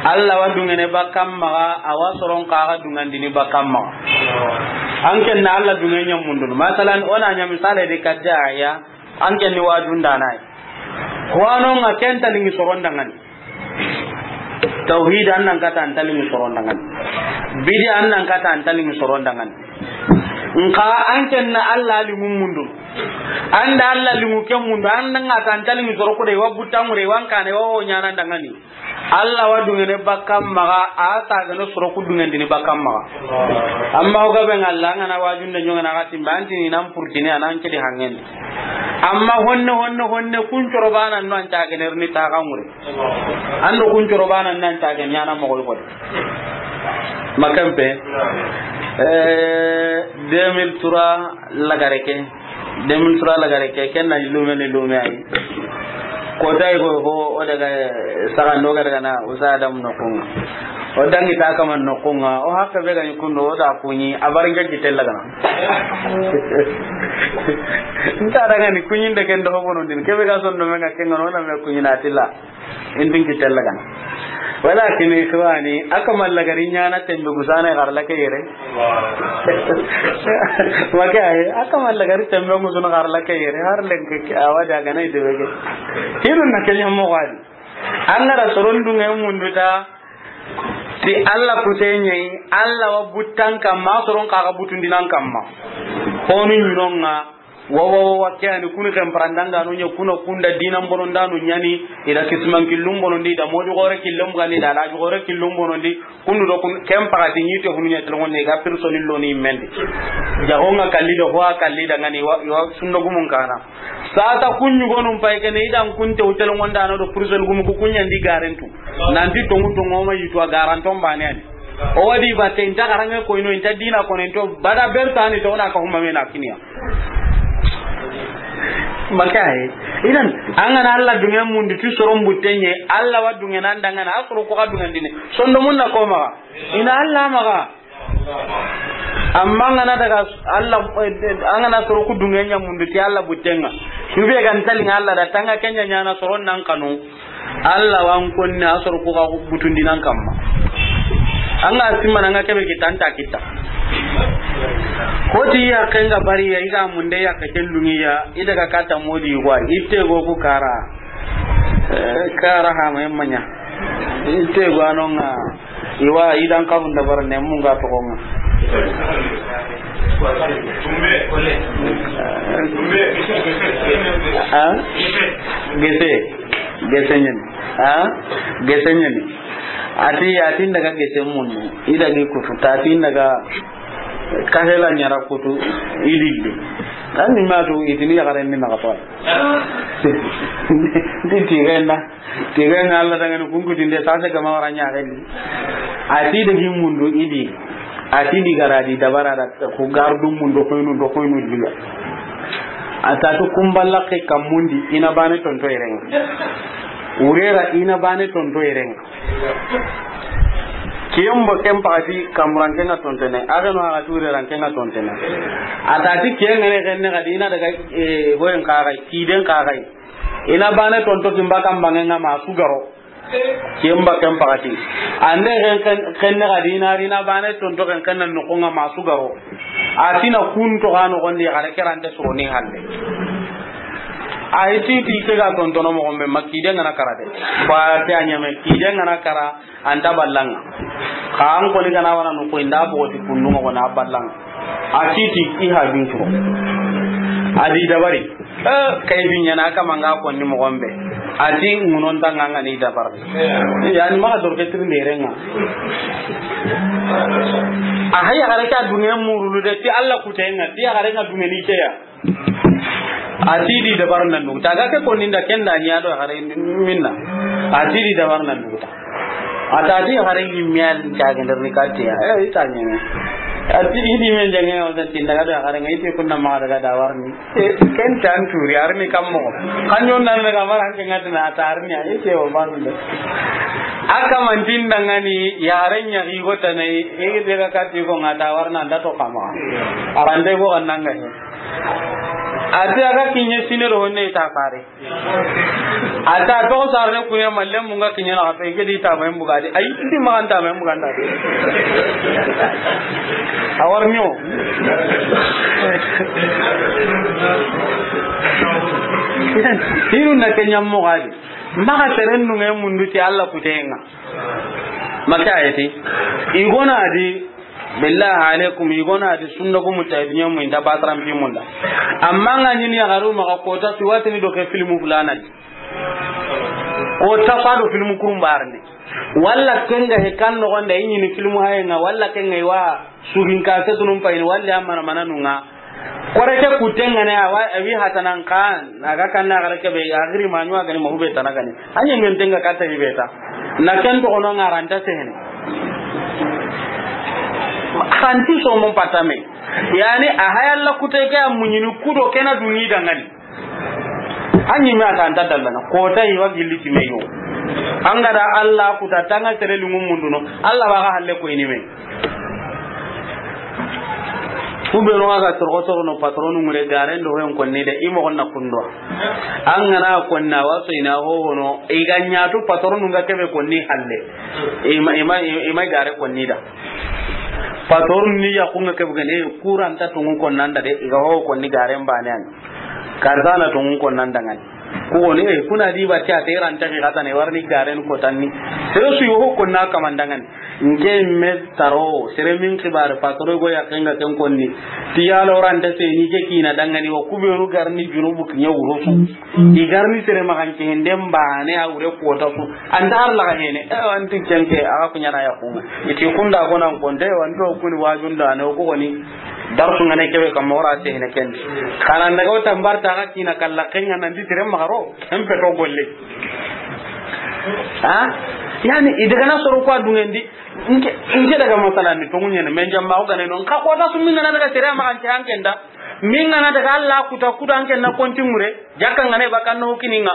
Allah wa dungene bakam maga, awa soron kaga dungandini bakam maga. An ken na Allah dunge ɲamundun. Masalan, ona ɲa misale di kadda ya, an ken ni wajunda nay. Wano nga ken talingi soron dangani. Tawhid an nan kata an talingi soron dangani. Bidi an nan kata an talingi soron dangani. Nka an ken na Allah limu mundu. An da Allah limu ke mundu, an nan kata an talingi soro kude wa butangure wan kane wa o ɲana dangani. Allah wa dungene bakam maga, a ta gano soro ku dungandini bakam maga. Amma o gabe ngalla ngana wajunde ɲongana gatimba antini nan purtini anan kedi hangen. Amma honne, honne, honne, kun coro bana no an cagene rni taga ngure. Ando kun coro bana nan cagene yana mo goy goy. Makampe. Eh, deux mille trois lagare ke. Deux mille trois lagare ke, ken na lume ni lume ay. Ko tay ko, ko o daga saga no ga daga na usa adam no kunga. O dangi ta kama no kunga. O hakka be ga ni kundo o da kunyi, a bar nge ki tella gana. Nta daga ni kunyi de ken do bono din. Ke be ga son do me ga ken no na me kunyi na tilla. Indin ki tella gana. Walakin ikhwani, akama lagari ɲana tembe gusana garla ke yere. Maka ay, akama lagari tembe gusana garla ke yere. Har lenke awa daga na ide bege. Hirun na kenya mo wadi. An ga ra soron dunge munduta. Ti Allah kutenye, Allah wa buttan kamma, soron kaga butundinan kamma. Honu ɲinonga, wa, wa, wa, wa, ke ani kuni ken parandanga no ɲa kuna kunda dinan bonondano ɲani, ida kisman killum bonondi, ida moju gore killum gani, ida laju gore killum bonondi, kundu do kun, ken pagati ɲite hunu ɲa telongonde, ga personil lo ni mendi. Jagonga kalli do, hoa kalli da ngani, wa, wa, sundo gumun kana. Sata kuɲu gonum pay kene idan kunte hotel ngonda no do prison gumu ku kuɲandi garantu. Nanti tongu tongu ma yitu a garanton bane ani. O wadi ba te inta garange ko ino inta dina ko nento bada berta ani to na ka huma mena kiniya. Maka he. Idan an gana Allah dunge mundu ti soron buttenye, Allah wa dunge nan dangana asoro ko ka dungandini. Sondo mun na ko maga. Ina Allah maga. Amma an gana daga Allah, an gana soro ku dunge ɲa mundu ti Allah buttenga. Yube gan talinga Allah da tanga kenya ɲana soron nan kanu. Alla wa n konni a soro ku ga butundinan kamma. An ga simana, an ga kebe kita, an ta kita. Ko ti yaqqen ga bari ya, i ga munde yaqqe ken dungiya, i daga kata modi wa, i te go ku kara. Eh, kara ha ma yemmanya. I te go anonga. Iwa, i dan karun da bar ne mun ga toxo ŋa. Ha? Gese. Gese ɲani. Ha? Gese ɲani. Ati, ati n daga gese mundu. I dagi kutu. Tati n daga kahela ɲara kutu. I lilli. An ni matu itini yaxaren ni naxa toy. Ti tigenda. Tiga ŋa Alla dangani kunkutinde, sase gama wara ɲaxendi. A ti dagi mundu idi. A ti di gara di dabara da ku gardu mundu koynu do koynu diga. A ta tu kumballa ke kamundi ina bane tonto irenga. Urera ina bane tonto irenga. Kiyembo ken pakati kamuran kenga tontene. Ageno aga tu urera kenga tontene. A ta ti kiyengene kenne kadi ina daga, eh, hoyen kagai, kiden kagai. Ina bane tonto kimba kambange nga ma sugaro. Kimba ken pakati. Ande ken, ken, ken ne gadi ina rina bane tonto ken ken nan noko nga ma sugaro. Atina kun to gano gondi gare kerante soni hande. Ay ti ti ke ga tontono mo gombe makide ngana karade. Ba te anyame kide ngana kara. Anta ballanga. Xa an koni gana wana no ko inda bogoti kundu ngo na ballanga. A ti ti i ha bin turo. A di dabari. Eh, kay bi ɲana kama nga konni mo gombe. A ti ngunon tanga nga ni dabar. Yani ma dor ke tirinde renga. A haya gare ka duniya murulu de ti Alla kutenga, ti gare nga duniya ni ke ya. A ti di dabar nan dugu. Taga ke konni nda kenda ɲa do gare minna. A ti di dabar nan dugu ta. A ta ti gare ni mial ta gender ni katiya. Eh, ita ɲeme. A ti di men jange o ta tinda ga do gare ngai ti kunna ma daga da warni. Eh, ken tan turi arni kammo. Kanyon nan ga mara ke ngat na ta arni a ite o ban de. Aka man tinda ngani yaren ya gigo tanai. E de ga kati ko ngata warna nda to kama. Arande go annanga he. A ti a ga kiɲe sine do honne ta fare. A ta to sarne kuɲe malle mun ga kiɲe na to ke di ta mai bugadi. Ay, di ma anta mai buganda. A war nyo. Hiru na ke ɲammo gadi. Maxa seren nunge mundu ti Alla kutenga. Maka ayeti. Igona di. Billahi alaikum, igona di sunna gumu ta dunya mu inda batram bi munda. Amma nga ɲini ya garu maxa kota siwatini do ke filmu fulana di. Kota fa do filmu kurumbarne. Walla kenga he kan no gonda iɲini filmu hayenga, walla kenga iwa suhin ka se tunum payni, walla amana mananunga. Kore ke kutengane awa, awi hatanan kan, aga kanna gare ke be, agri manyu agani mahube tanagani. Anye ngentenga kata ibeta. Na ken to kono ngaranta sehene. Kanti so mon patame. Yani a hayalla kute ke a muɲini kudo kena dungi dangani. Anyi me ata anta dallana. Kota iwa gilli timeyo. Angada Allah kuta tanga sere lungu munduno. Allah baga halle ko inime. Ku be no ga torogo torono patronu ngure garen do hen konni de imo gonna kundo. An gana konna waso ina ho hono iga ɲatu patronu nga kebe konni halle. Ima, ima, ima gare konni da. Patron ni ya kunga kebe gane kuranta tungu konnanda de iga ho konni garen banen. Karzana tungu konnanda ngani. Ku woni, eh, kuna di batti a te ran ta ki xatane, warni garen ko tanni. Sere su yo ko na kaman dangani. Nke me taro, sere min xibar patro go ya kenga ken konni. Ti ya lo ran ta se ni ke kina dangani wa ku be ru garni junubu kinya wuro su. I garni sere magan ke hende mbane a wure kota su. Anta har la hene, eh, anti kenke a ku ɲana ya ku. Iti kunda go nan konde, wanto kuni wajunda ne ko woni. Darsu ngane kebe kam mora te hene ken. Kana ndaga o tambar ta ga kina kalla kenga nan di tere magaro, en peto golle. Ha? Yani, i daga na soro ko adungendi, nke, nke daga masala ni to ŋuɲene, men jamma o gane non, ka ko ta su min gana daga tere ma kan ke an kenda. Min gana daga Allah kuta kuda an kenna konti mure, jakka ngane bakan no kininga.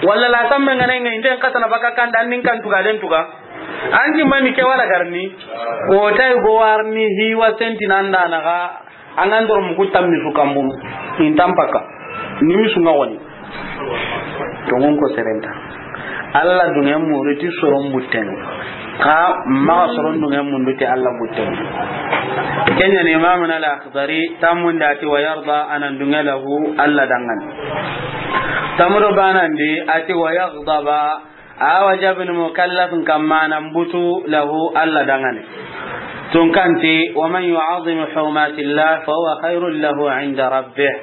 Walla la samme ngane ngai nden katana baka kanda an nin kan tuga den tuga. Anti mani ke wala garni. Ko tay go warni hiwa senti nanda naga. Angan dor mu ku tammi su kambum. Intam paka. Nimi su ngawani. To ngon ko serenta. Alla duŋe muuru ti soron buttenu. Xa maxa soron duŋe mundu ti Alla buttenu. Ken ɲa ni Imamuna Al-Akhdari, tammun da ti wa yarda, a nan duŋe lahu Alla danŋa ni. Tammu do baanandi, a ti wa yaghdaba, a wajabini mukallafin kamma nan butu lahu Alla danŋa ni. Tunka nti, wa man yu'azzim hurumatillah fa huwa khairun lahu inda rabbih.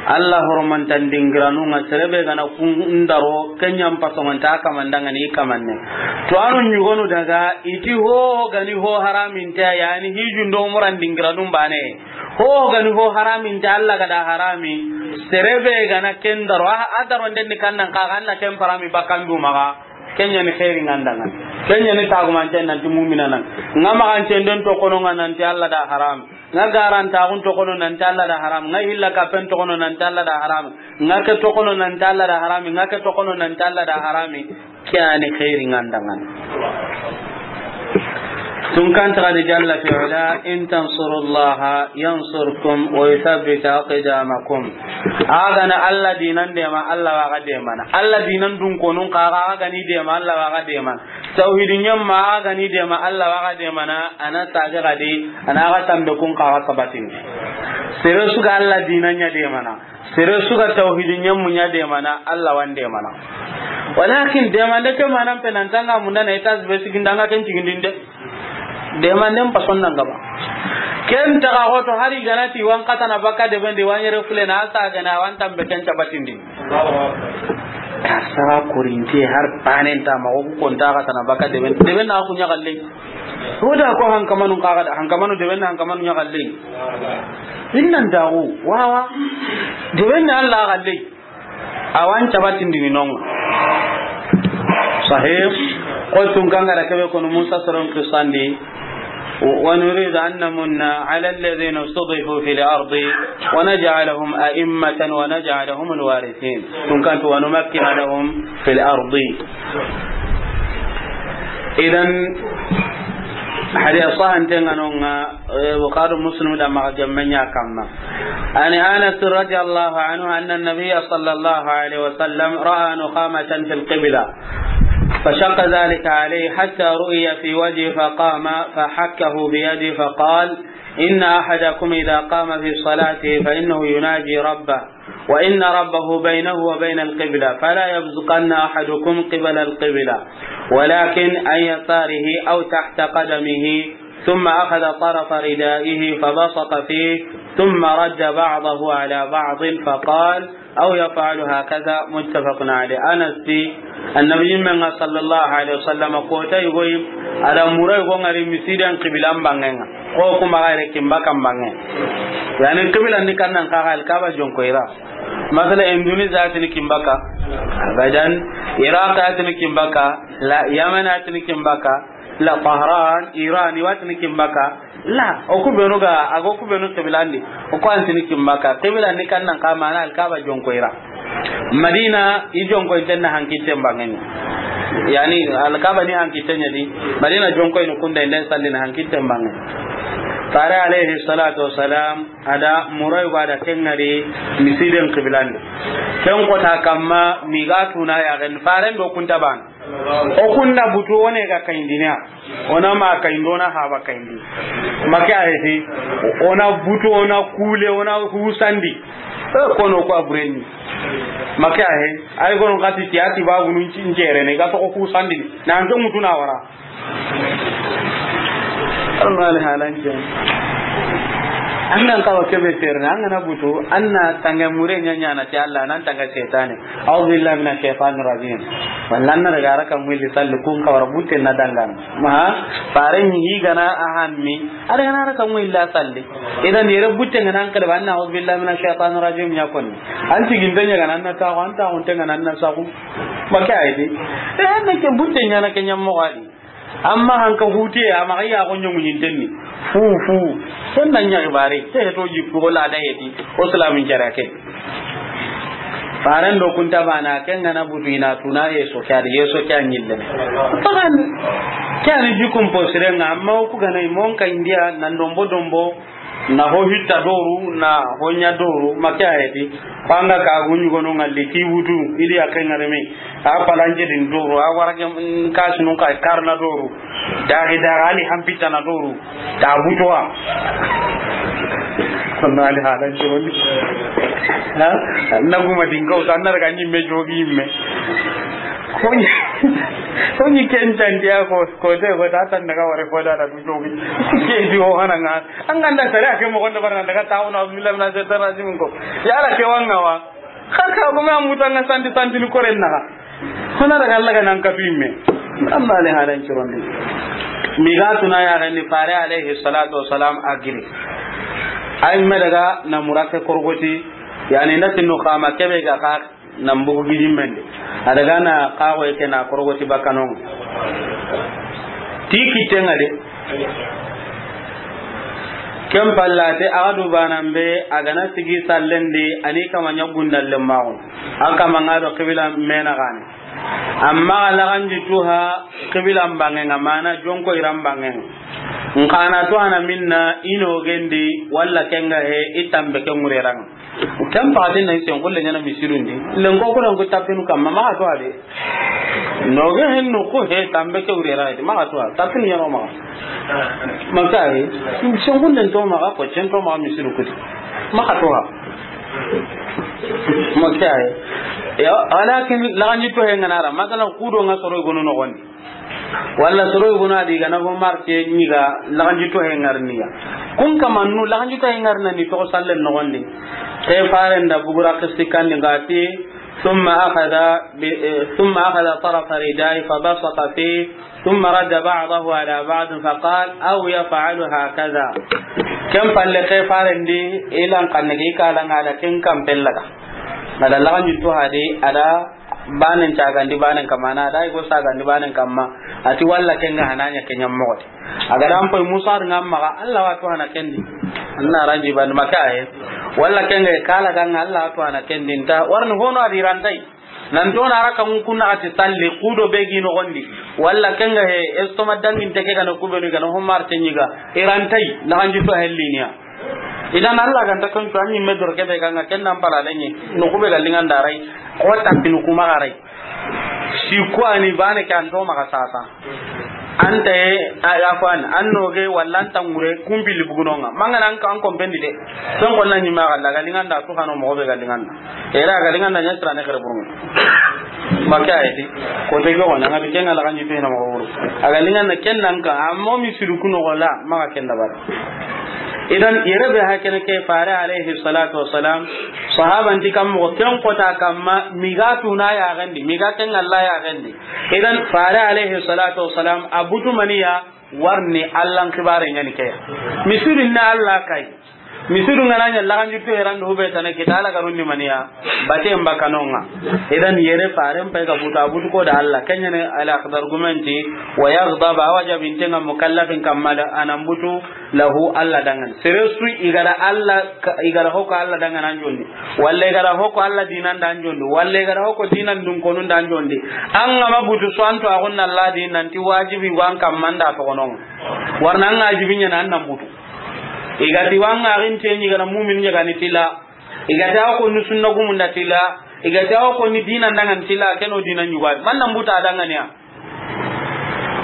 Alla horomantan dingiranun ŋa, sere be ga na kun daro, ken ɲa n pasongonta kaman danŋa ni kamanne. To anu ɲugonu daga, i ti ho ga ni ho haramin ta, yani hijun do umuran dingiranun baane. Ho ga ni ho haramin ta, Alla ga da harami. Sere be ga na ken daro, a, a daro nden ni kannan ka, ga na ken parami bakandu maxa. Ken ɲa ni xeeri ŋa n danŋa ni. Ken ɲa ni tagumanten nan ti mumina nan. Ŋa maxancen den toxono ŋa nan ti Alla da haram. Ŋa garantaxun toxono nan ti Alla da haram. Ŋa hilla kappen toxono nan ti Alla da haram. Ŋa ke toxono nan ti Alla da haram. Ŋa ke toxono nan ti Alla da haram. Ke ya ni xeeri ŋa n danŋa ni. Tunka nta xa di jalla fi ula, in tansurullaha yansurkum wa yuthabbit aqdamakum. A ga na Alla diinan deema, Alla wa ga deemana. Alla diinan dunkonun xa, a ga ni deema, Alla wa ga deemana. Tawhidi ɲamma, a ga ni deema, Alla wa ga deemana. A na sage xa di, a na ga tambe kun xa ga sabatindi. Sere su ga Alla diinan ɲa deemana. Sere su ga tawhidi ɲammu ɲa deemana, Alla wa n deemana. Walakin deemande ke manan pe nan tanga munda na étage be siginda ŋa ken cigindinde. Deemanden pason nan gaba. Ken taga xoto hari ga na ti wa n xatana baka deben di wa n yere fule na a sa ga na wa n tambe ken cabatindi. Ka sara korinte har panen ta ma o ku konta xatana baka deben. Deben na ku ɲa galle. Hoda ko hankamanu kaga da, hankamanu deben na hankamanu ɲa galle. Innan dawo, wawa. Deben na Alla galle. A wa n cabatindini non ŋa. Sahih. Qultu n kangara kebe kono Musa soron qissandi. ونريد أن نمن على الذين استضعفوا في الأرض ونجعلهم أئمة ونجعلهم الوارثين. Tunka nti ونمكن لهم في الأرض. Idan, hadisa sahanten ŋa non ŋa, eh, Bukhari Muslim da maxa gemme ɲa kamma. عن أنس رضي الله عنه أن النبي صلى الله عليه وسلم رأى نخامة في القبلة فشق ذلك عليه حتى رؤي في وجهه فقام فحكه بيده فقال: إن أحدكم إذا قام في صلاته فإنه يناجي ربه، وإن ربه بينه وبين القبلة، فلا يبزقن أحدكم قبل القبلة، ولكن عن يساره أو تحت قدمه. ثم أخذ طرف ردائه فبصق فيه، ثم رد بعضه على بعض، فقال: أو يفعل هكذا، متفق عليه. Anas ti, Annabi yinme ŋa sallallahu alaihi wasallam, kota yugo yi, a da mura yugo ŋari misiden qibilan banŋen ŋa. Ko kuma ga yere kin baka banŋe. Yani qibilan ni kannan kaga Alkaba jonko i ra. Masala Indonesia a tini kin baka. Abadan. Iraq a tini kin baka. La, Yaman a tini kin baka. La, Tehran, Iran, i wa tini kin baka. La, o ku benu ga, a ga o ku benu qibilandi. O ku a ntini kin baka. Qibilandi kannan ka mana Alkaba jonko i ra. Madina, i jonko i tenna hankitten banŋen ŋa. Yani, Alkaba ni hankitten ɲa di. Madina jonko i ni kunda i nden sallini hankitten banŋen ŋa. Fare alayhi salatu wassalam, a da mura yugo a da ken ŋari misiden qibilandi. Ken kota kamma, mi ga tuna ya gen, faren do kunta ban. O kunna butu, o ne ga kayindiniya. O na ma kayindi, o na haba kayindi. Make a heti, o na butu, o na kule, o na husandi. E, kono ko a burenni. Make a he, ay kono kati ti a ti babu nun ci n jere ne, ga to ko husandi. Na an ke mutu na wara. Almani halanke. An nan kawa kebe serne, an ga na butu, an na tanga mure ɲa ɲa na ti Alla, nan tanga setane. A'udhu billahi minash shaitanir rajim. Walla an na daga raka muilli salli kun kawara butte na dangan. Ma, fare ni hi gana a hanmi. A daga na raka muilli salli. Idan yere butte ngana an kalba, an na a'udhu billahi minash shaitanir rajim ɲa konni. An ti ginde ɲa gana an na taxu, an taxunte ngana an na saxu. Make a heti. E, an na ke butte ɲa na ke ɲa mo gadi. Amma hanka hutiye, a maxa ya xo ɲoŋu ɲintenni. Fu, fu. Ken na ɲa xibare. Ke heto jikku, ko lada heti. O silamin jara ke. Faren do kunta bana, ken ga na butu i na tuna yeso ke a di, yeso ke a ɲille. Fagan. Ke a ni jikun posirenga, amma o ku gana i monka indiya, nan dombo dombo. Na ho hitta doru, na ho ɲa doru, ma ke a yi ti. Ko an ga ka gu ɲugonu ŋalli, ti wutu, i di ya ke ŋareme. A palanke din doru, a wara ke, mm, kasunun ka karna doru. Daxi daxi, ali hampita na doru. Ta butuwa. Konna ali halan joni. Ha? Na guma din ko, tan na daga ɲimme jogi ɲimme. Ko ɲi, ko ɲi ken tan dia ko, ko te ko ta tan daga ware ko da da jogi. Ke di o hana ŋa. An ga nda sare a ke moxo nda barana daga tawo na, "Auzubillahi minash shaitanir rajim" ko. Ya Alla ke wa ŋa wa. Xa ka ko ma muta ŋa santi santi ni koren na. Hona daga Alla ga nan ka tuimme. Alla le halan cirondi. Mi ga tuna ya ni Fare alayhi salatu wassalam a giri. Ay me daga na murake korgoti. Yani nda tinu xama kebe ga xa nan bugu gijimmen di. A daga na xaxoye ke na korogoti bakkanon ŋa. Ti kitten ŋa de. Ken pallate, a ga du banan be, a ga na sigi sallen di, a ni kama ɲa gundallen maxu. A kama ŋa do xibila mena gane. Amma a laxanjitu ha xibilan bangen ŋa, mana jonko iran bangen ŋa. N xa na tu hana minna, i nogen di, walla ken ga he, i tambe ke ŋureran ŋa. Ken paxatin na i sen xulle ɲana misirun di. Lenko kuran ku tapinu kamma, maxa to a de. Noge hen no ko he tambe ke wurera de, maxa to a. Tapinu ɲano maxa. Maxa he. Sen xullen to maxa, ko cen to maxa misiru kuti. Maxa to a. Maxa he. Ya, walakin laxanjitu he ŋa na ra. Masalan, kudo ŋa soro i gonu noxon di. Walla soro yogonu a di ga na ho marke ɲiga laxanjitu he ŋarniya. Kun kamannu laxanjitu he ŋarna ni toxo sallen noxon di. Ke Faren da bugura xisti kandi ga ti, ثم أخذ ب-، eh, ثم أخذ طرف ردائه فبصق فيه، ثم رد بعضه على بعض فقال: أو يفعل هكذا. Ken palle ke Faren di ilan kanne gi kala ŋa da ken kan pellaga. Ŋa da laxanjitu ha di a da banen cagandi banen kamma, na da i go sagandi banen kamma, a ti walla ken ga hana ɲa ke ɲa moxo ti. A ga da an poy Musa ri ŋa maxa, Alla wa tu hana ken di. Anna ranji ban maka he. Walla ken ga kala ga ŋa, Alla wa tu hana ken di. Nta warni hono a di rantai. Nan to na raka ŋu kunna a ti salli, kudo be gi noxon di. Walla ken ga he, estoma dangin teke ga na kubenu ga na homar te ɲiga. I rantai, laxanjitu helliniya. Idan Alla ga nta ken tu, a ɲi me doro kebe ga ŋa ken nan pala lenye. No kube ga linganda rai. Ko tapinu kuma ga rai. Sikko a ni bane ke an to maxa sasa. Anta ye, a, afwan, an noge walla anta ŋure, kumpili bugunonga. Mangana an ka, an kompendi de. Son konna ɲi maxa, la ga linganda tu xano moxo be ga linganda. Era ga linganda ɲa sirane xere burungu. Maka ayeti. Ko te ko na ngati ken ŋa laxanjitu hena moxo wuru. A ga linganda ken nan ka, amma mi siru kuno gola, maxa ken da bar. Idan, yere be hakene ke Fare alayhi salatu wassalam, sahaban ti kam moxo ken kota kamma, mi ga tuna yaxen di, mi ga ken Alla yaxen di. Idan, Fare alayhi salatu wassalam, a butu maniya, warni Allan xibare ɲani ke ya. Misiru na Alla kay. Misiru ŋa na ɲa laxanjitu heran do hube tana kita Alla garundi maniya, bate mbakanonga. Idan, yere Faren pay ga butu, a butu ko da Alla. Ken ɲa ne Al Akhdar gumenti, wa yaghdab, a wajabinte ŋa mukallafin kamma da, a nan butu, lahu, Alla dangan. Sere su i ga da Alla ka-, i ga da hoko Alla dangan an jondi. Walla i ga da hoko Alla dinan da an jondi. Walla i ga da hoko dinan dun konun da an jondi. An ga ma butu so an to a gunna Alla dinan ti wajibi wan kamma nda to gonon. Warna an wajibi ɲa na an nan butu. I ga ti wan ga rin te ɲi ga na mumin ɲa ga ni tila. I ga ta ko nu sunna gumunda tila. I ga ta ko ni dinan dangan tila, keno dinan ɲuga. Man nan buta dangan ya.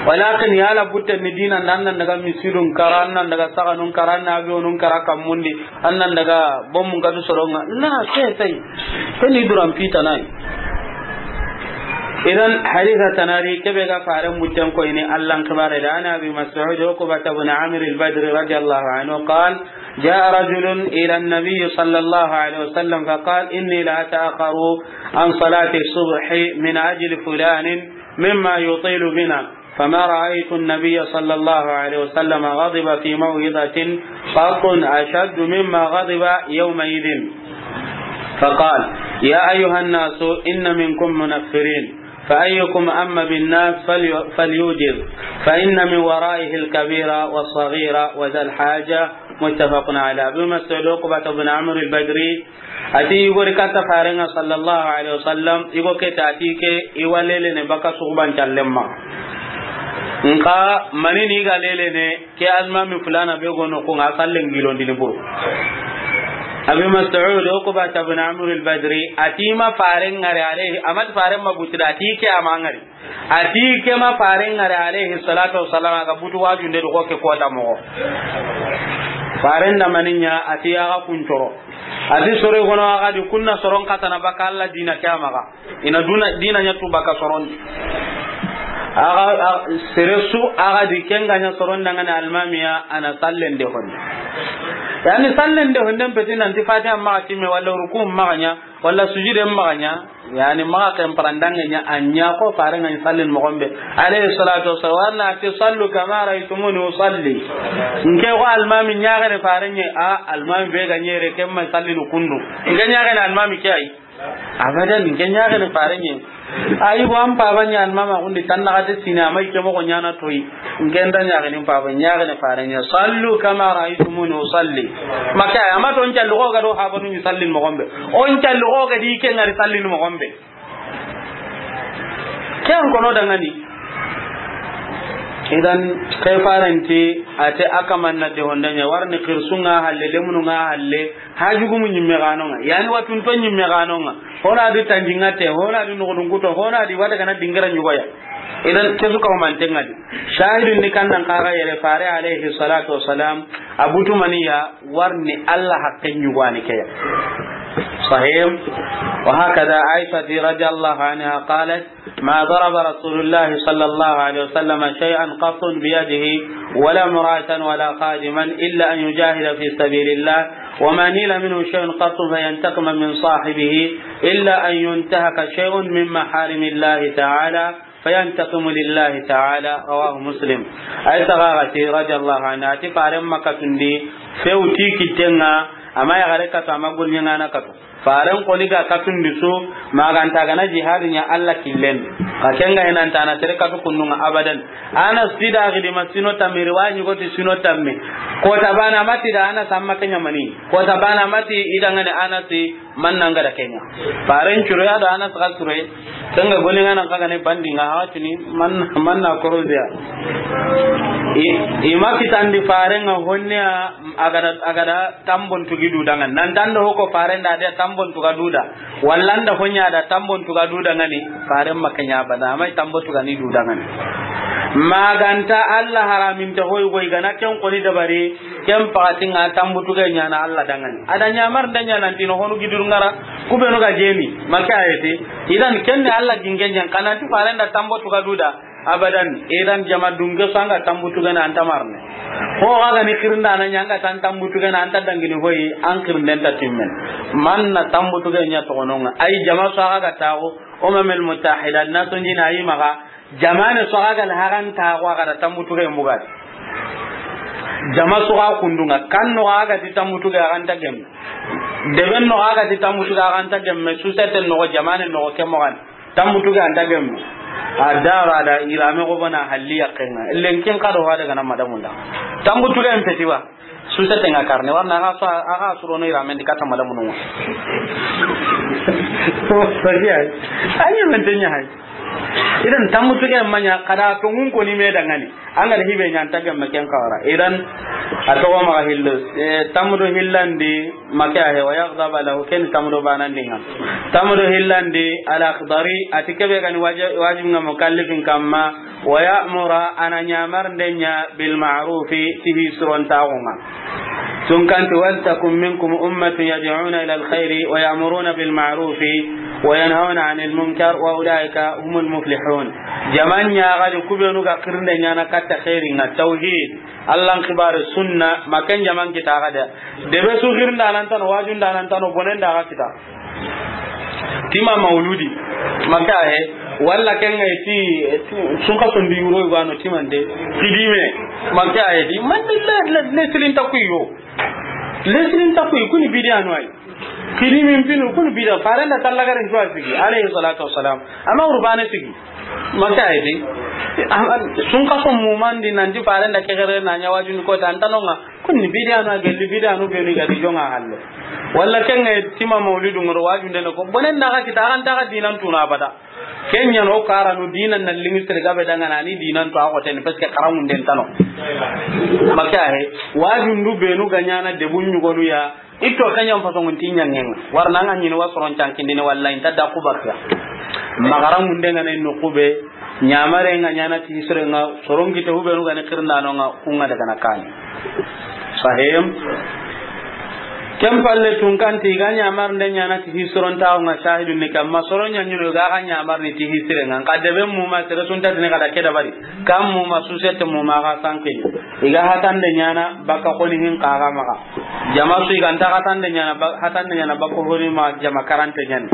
Walakin yala butte ni dinan dan nan daga misidun kara, nan daga saganun kara, na biyonun kara kammundi, an nan daga bomun kadu soronga. Na, sai, sai. Sai ni duran pita nai. Idan hadisa tanari kebe ga Faren butten ko ini Allan xibare da, an Abi Mas'ud Uqbata bin Amir al-Badri radiyallahu anhu qal, جاء رجل إلى النبي صلى الله عليه وسلم فقال: إني لأتأخر عن صلاة الصبح من أجل فلان مما يطيل بنا، فما رأيت النبي صلى الله عليه وسلم غضب في موعظة قط أشد مما غضب يومئذ. فقال: يا أيها الناس، إن منكم منفرين، فأيكم أم بالناس فلي-، فليوجز، فإن من ورائه الكبير والصغير وذا الحاجة. متفق عليه. Abi Mas'ud Uqbata bin Amir al-Badri, ati yugori katta Farenga sallallahu alaihi wasallam, yugo keta ati ke, i walele ne baka suxuban callemma. Nka mani ni ga lelene, ke almaami fulaana be ga no ku ŋa, sallen gilondini buru. Abi Mas'ud, Uqbata bin Amr al-Badri, a ti ma faaren ŋari alayhi, a ma ti faaren ma butu da, a ti ke a ma ŋari. A ti ke ma faaren ŋari alayhi salatu wassalam, a ga butu waajunde do ko ke kota moxo. Faaren da mani ɲa, a ti a ga kun coro. A ti soro gono a ga di ku na soron katana baka Alla diina ke a maxa. I na duna, diina ɲa tu baka soron di. A ga, a, sere su a ga di ken ga ɲa soron dangana almaami ya, a na sallen de honde. Yaani sallen de honde n peti nanti Fatiha maxa timme walla ruku maxa ɲa, walla sujuden maxa ɲa, yaani maxa ken parandange ɲa, a ɲa ko faaren ŋa ɲi sallin moxon be. Alayhi salatu wassalam, wa na ti, "Sallu kama ra'aytumuni usalli." N ke ko almaami ɲaxene faaren ɲe, a almaami be ga ɲere ken ma sallinu kundu. N ke ɲaxene almaami ke ay. Abadan, n ke ɲaxene faaren ɲe. Ayi, ko an paaba ɲa almaami a kundi tan naxate sine, a ma i ke moxo ɲaana toyi. N ke nda ɲaxene paaba, ɲaxene faaren ɲe. "Sallu kama ra'aytumuni usalli." Ma ke ay, a ma ti o n calli xo ga do habanu ɲi sallin moxon be. O n calli xo ga di ke ŋari sallin moxon be. Ke an kono dangani. Idan, ke faaren ti, a ti a kaman na de honda ɲa, warni xirsu ŋa halle, lemunu ŋa halle, hajugumu ɲimme ga no ŋa, yaani watunto ɲimme ga no ŋa, ho na di tanjiŋa te, ho na di nuxudun kuto, ho na di wada ga na dingira ɲugoya. Idan, ke su kawa manten ŋa di. Shahidun ni kan nan kaga yere faare alayhi salatu wassalam, a butu mani ya, warni Alla haqqen ɲugani ke ya. Sahih. Wa hakada Aisha radiyallahu anha qalat, ما ضرب رسول الله صلى الله عليه وسلم شيئا قط بيده ولا امرأة ولا خادما إلا أن يجاهد في سبيل الله، وما نيل منه شيء قط فينتقم من صاحبه إلا أن ينتهك شيء من محارم الله تعالى فينتقم لله تعالى. رواه مسلم. Aisha ga ti, radiyallahu anha, a ti faaren ma katundi few ti kitten ŋa, a ma yaxare katu, a ma golliŋana katu. Faaren xoni ga katundi su, ma ga nta ga na jihadi ɲa Alla killen. Xa ken ga hina nta na tere katu kundu ŋa abadan. Anas ti da gidi ma sino tammi, riwaya ɲi go ti sino tammi. Kota baane a ma ti da Anas a ma ke ɲa mani. Kota baane a ma ti i dangani Anas man na ŋa da ke ɲa. Faaren curo ya do Anas ga curo. Ken ga golliŋana xa ga ne bandi ŋa ha tini man, man na koroziya. I, i ma kitandi faaren ŋa honne ya. A ga da, a ga da tambon tugi du dangani. Nan tando hoko faaren da de tambon tuga du da. Walla nda honya da tambon tuga du dangani. Faaren ma ke ɲa bada, a ma i tambo tuga ni du dangani. Ma ga nta Alla haramin ta hoy goy ga na ken xoni dabari, ken paxati ŋa tambo tuga ɲa na Alla dangani. A da ɲamar nda ɲa nan tino honu gidur ŋara, ku be no ga jeni, ma ke ayeti. Idan ken ni Alla gingen ɲan, xa nan ti faaren da tambo tuga du da. Abadan, idan jama dunge su an ga tambutu gana an ta marne. Ho ga ga ni xirinda na ɲa an ga tan tambutu gana an ta dangini hoyi, an xirinden ta timmen. Man na tambutu gana ɲa toxono ŋa. Ay jama su a ga ga taxu, Umamul Mutahida, na sonjina ayi maxa, jamaane su a ga ga la haran taxu a ga da tambutu gana mugadi. Jama su ga kundu ŋa, kan no ga ga ti tambutu gana an ta gemme. Deben no ga ga ti tambutu gana an ta gemme, su seten no jamaane no ke moxan. Tambutu ga an ta gemme. A dara da irame go bana halli yaqqen ŋa. Lenkin kado wa daga na madamun da. Tambutu ga en feti wa. Su seten ŋa karne. Warna aga so, aga surono irame ndi kata madamun ŋa. Sagiya. Ayi men tenya hay. Idan tambutu ga en ma ɲa kada to ngun ko ni me dangani. An ga da hibe ɲa an ta gemme ken kawara. Idan, a toxo maxa hillo. Eh, tambutu hillandi, ma ke a he, wa yaghdaba lahu, ken tambutu banandi ŋa. Tambutu hillandi, Al-Akhdari, a ti kebe gani waji-, wajib ŋa mukallifin kamma, wa ya'mura, a na ɲamar nde ɲa, bil ma'rufi, ti hi suron taxu ŋa. Tun kanti, "Wal takun minkum ummatun yad'una ila al-khayri wa ya'muruna bil ma'rufi wa yanhawna 'anil munkar wa ulaika humul muflihun." Jaman ɲa ga di ku benu ga xirinde ɲa na katta xairin ŋa, tawhid, Allan xibaare, sunna, ma ken jaman kita ga da. Debe su xirinda nan tano, wajunda nan tano, bonenda ga kita. Tima mauludi, ma ke a he, walla ken ŋa ti, ti, sun ka sondi yuro gano timande, xidime, ma ke a he di, man le, le, le silin takuyo. Le silin takuyo, kuni bidiya no ay. Xidime pinu, kuni bidiya, farenda tallagaren juwa sigi, alayhi salatu wassalam. Ama urbane sigi. Ma ke a he di, sun ka son mumandi nanti farenda kegere na ɲa wajuni ko ta, an ta no ŋa, Kuni bidiya na gelli bidiya nu benu ga di jonga halle. Walla ken ŋa tima maulidu ŋoro wajunde ne ko. Bonen na ga kita, an ta ga dinan tuna abada. Ken ɲa no karanu dinan na liŋi sere gabe dangana ni dinan to a xoten, parce que xaramunden tano. Maka he, wajundu benu ga ɲana debun ɲugonu ya, itto ka ɲan fasongun ti ɲangenga. Warna nga ɲini wa soron cankindini, walla inta da ku bakka. Magara munde nga ne no kube, ɲamare nga ɲana ti hisire nga, soron kite hubenu ga ne kirndano nga, kunga daga na kani. Sahim. Ken palle tun kanti ga ɲamar nde ɲana ti hisiron tawo nga shahidun ni kamma, soron ɲa ɲino ga ga ɲamar ni ti hisire nga. Nka debe muma sere sunta tini kada keda bari. Kam muma susete muma ga sanke. Iga hatande ɲana baka koni hin kaga maga. Jama su i ga nta hatande ɲana ba-, hatande ɲana bako hori ma jama karante ɲani.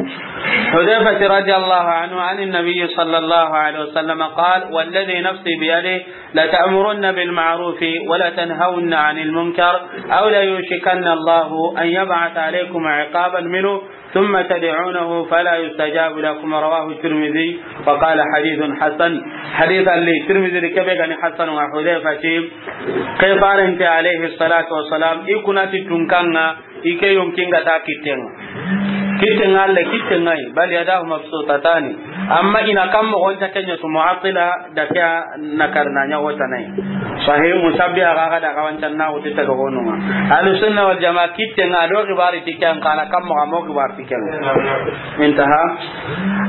Hudayfa radiyallahu anhu, عن النبي صلى الله عليه وسلم قال: والذي نفسي بيده لتأمرن بالمعروف ولتنهون عن المنكر أو ليوشكن الله أن يبعث عليكم عقابا منه ثم تدعونه فلا يستجاب لكم. رواه الترمذي وقال: حديث حسن. حديث اللي الترمذي كبه كان حسن وحذيفة. Ke farante alayhi salatu wassalam, i kunati tunkanga, i ke yonkinga ta kittenga. Kittenga alle, kittenga yi, bal yadahu mabsutatani. Amma ina kam mo gonta kenya su mu'attila da kya nakar na nya wota nai. Sahih musabbiha ga ga da ga wancan na wuti ta ga gonunga. Ahlus sunna wal jamaa kittenga do kibari tikyan kana kam mo ga mo kibari tikyan. Intaha.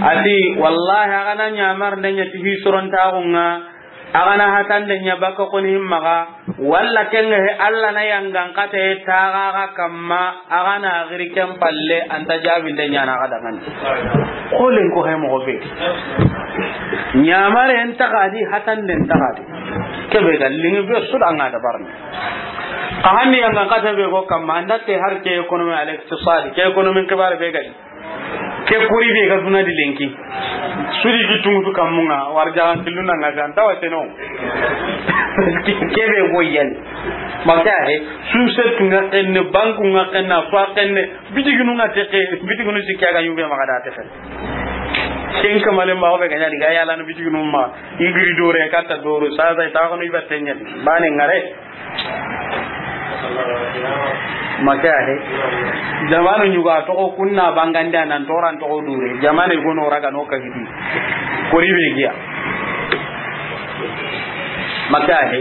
Ati wallahi aga na ɲamar ndenya ti hisuron tagunga. Aga na hatande ɲa baka koni himmaga, walla kenga he Alla na yangan kate taga ga kamma, aga na giri ken palle anta jabinde ɲana aga dangani. Kolen ko he mogo be. Ɲamare en tagadi, hatande en tagadi. Kebe ga lingi be suda nga da barni. Ka hanni yangan kate be go kamma, andate har ke économie al-iqtisadi, ke économie kibare be gadi. Ke kori be ga duna di lenki. Sudi gi tungutu kammunga, war jagan killu na nga jan tawa teno. Ke be go yan. Maka he, su se tunga kenne, banku nga kenna, fa kenne, bitiginu nga teke, bitiginu sikya ga yube maga da teke. Ken kamale ma be ga ɲa di ga yala no bitiginu ma, igiri dore kata doro, sa sa ta ko no ibatenya di. Bane ngare. Maka he. Jamanu ɲuga toxo kunna bangandi anan toran toxo dure. Jamane gono raga no kagidi. Kori be giya. Maka he.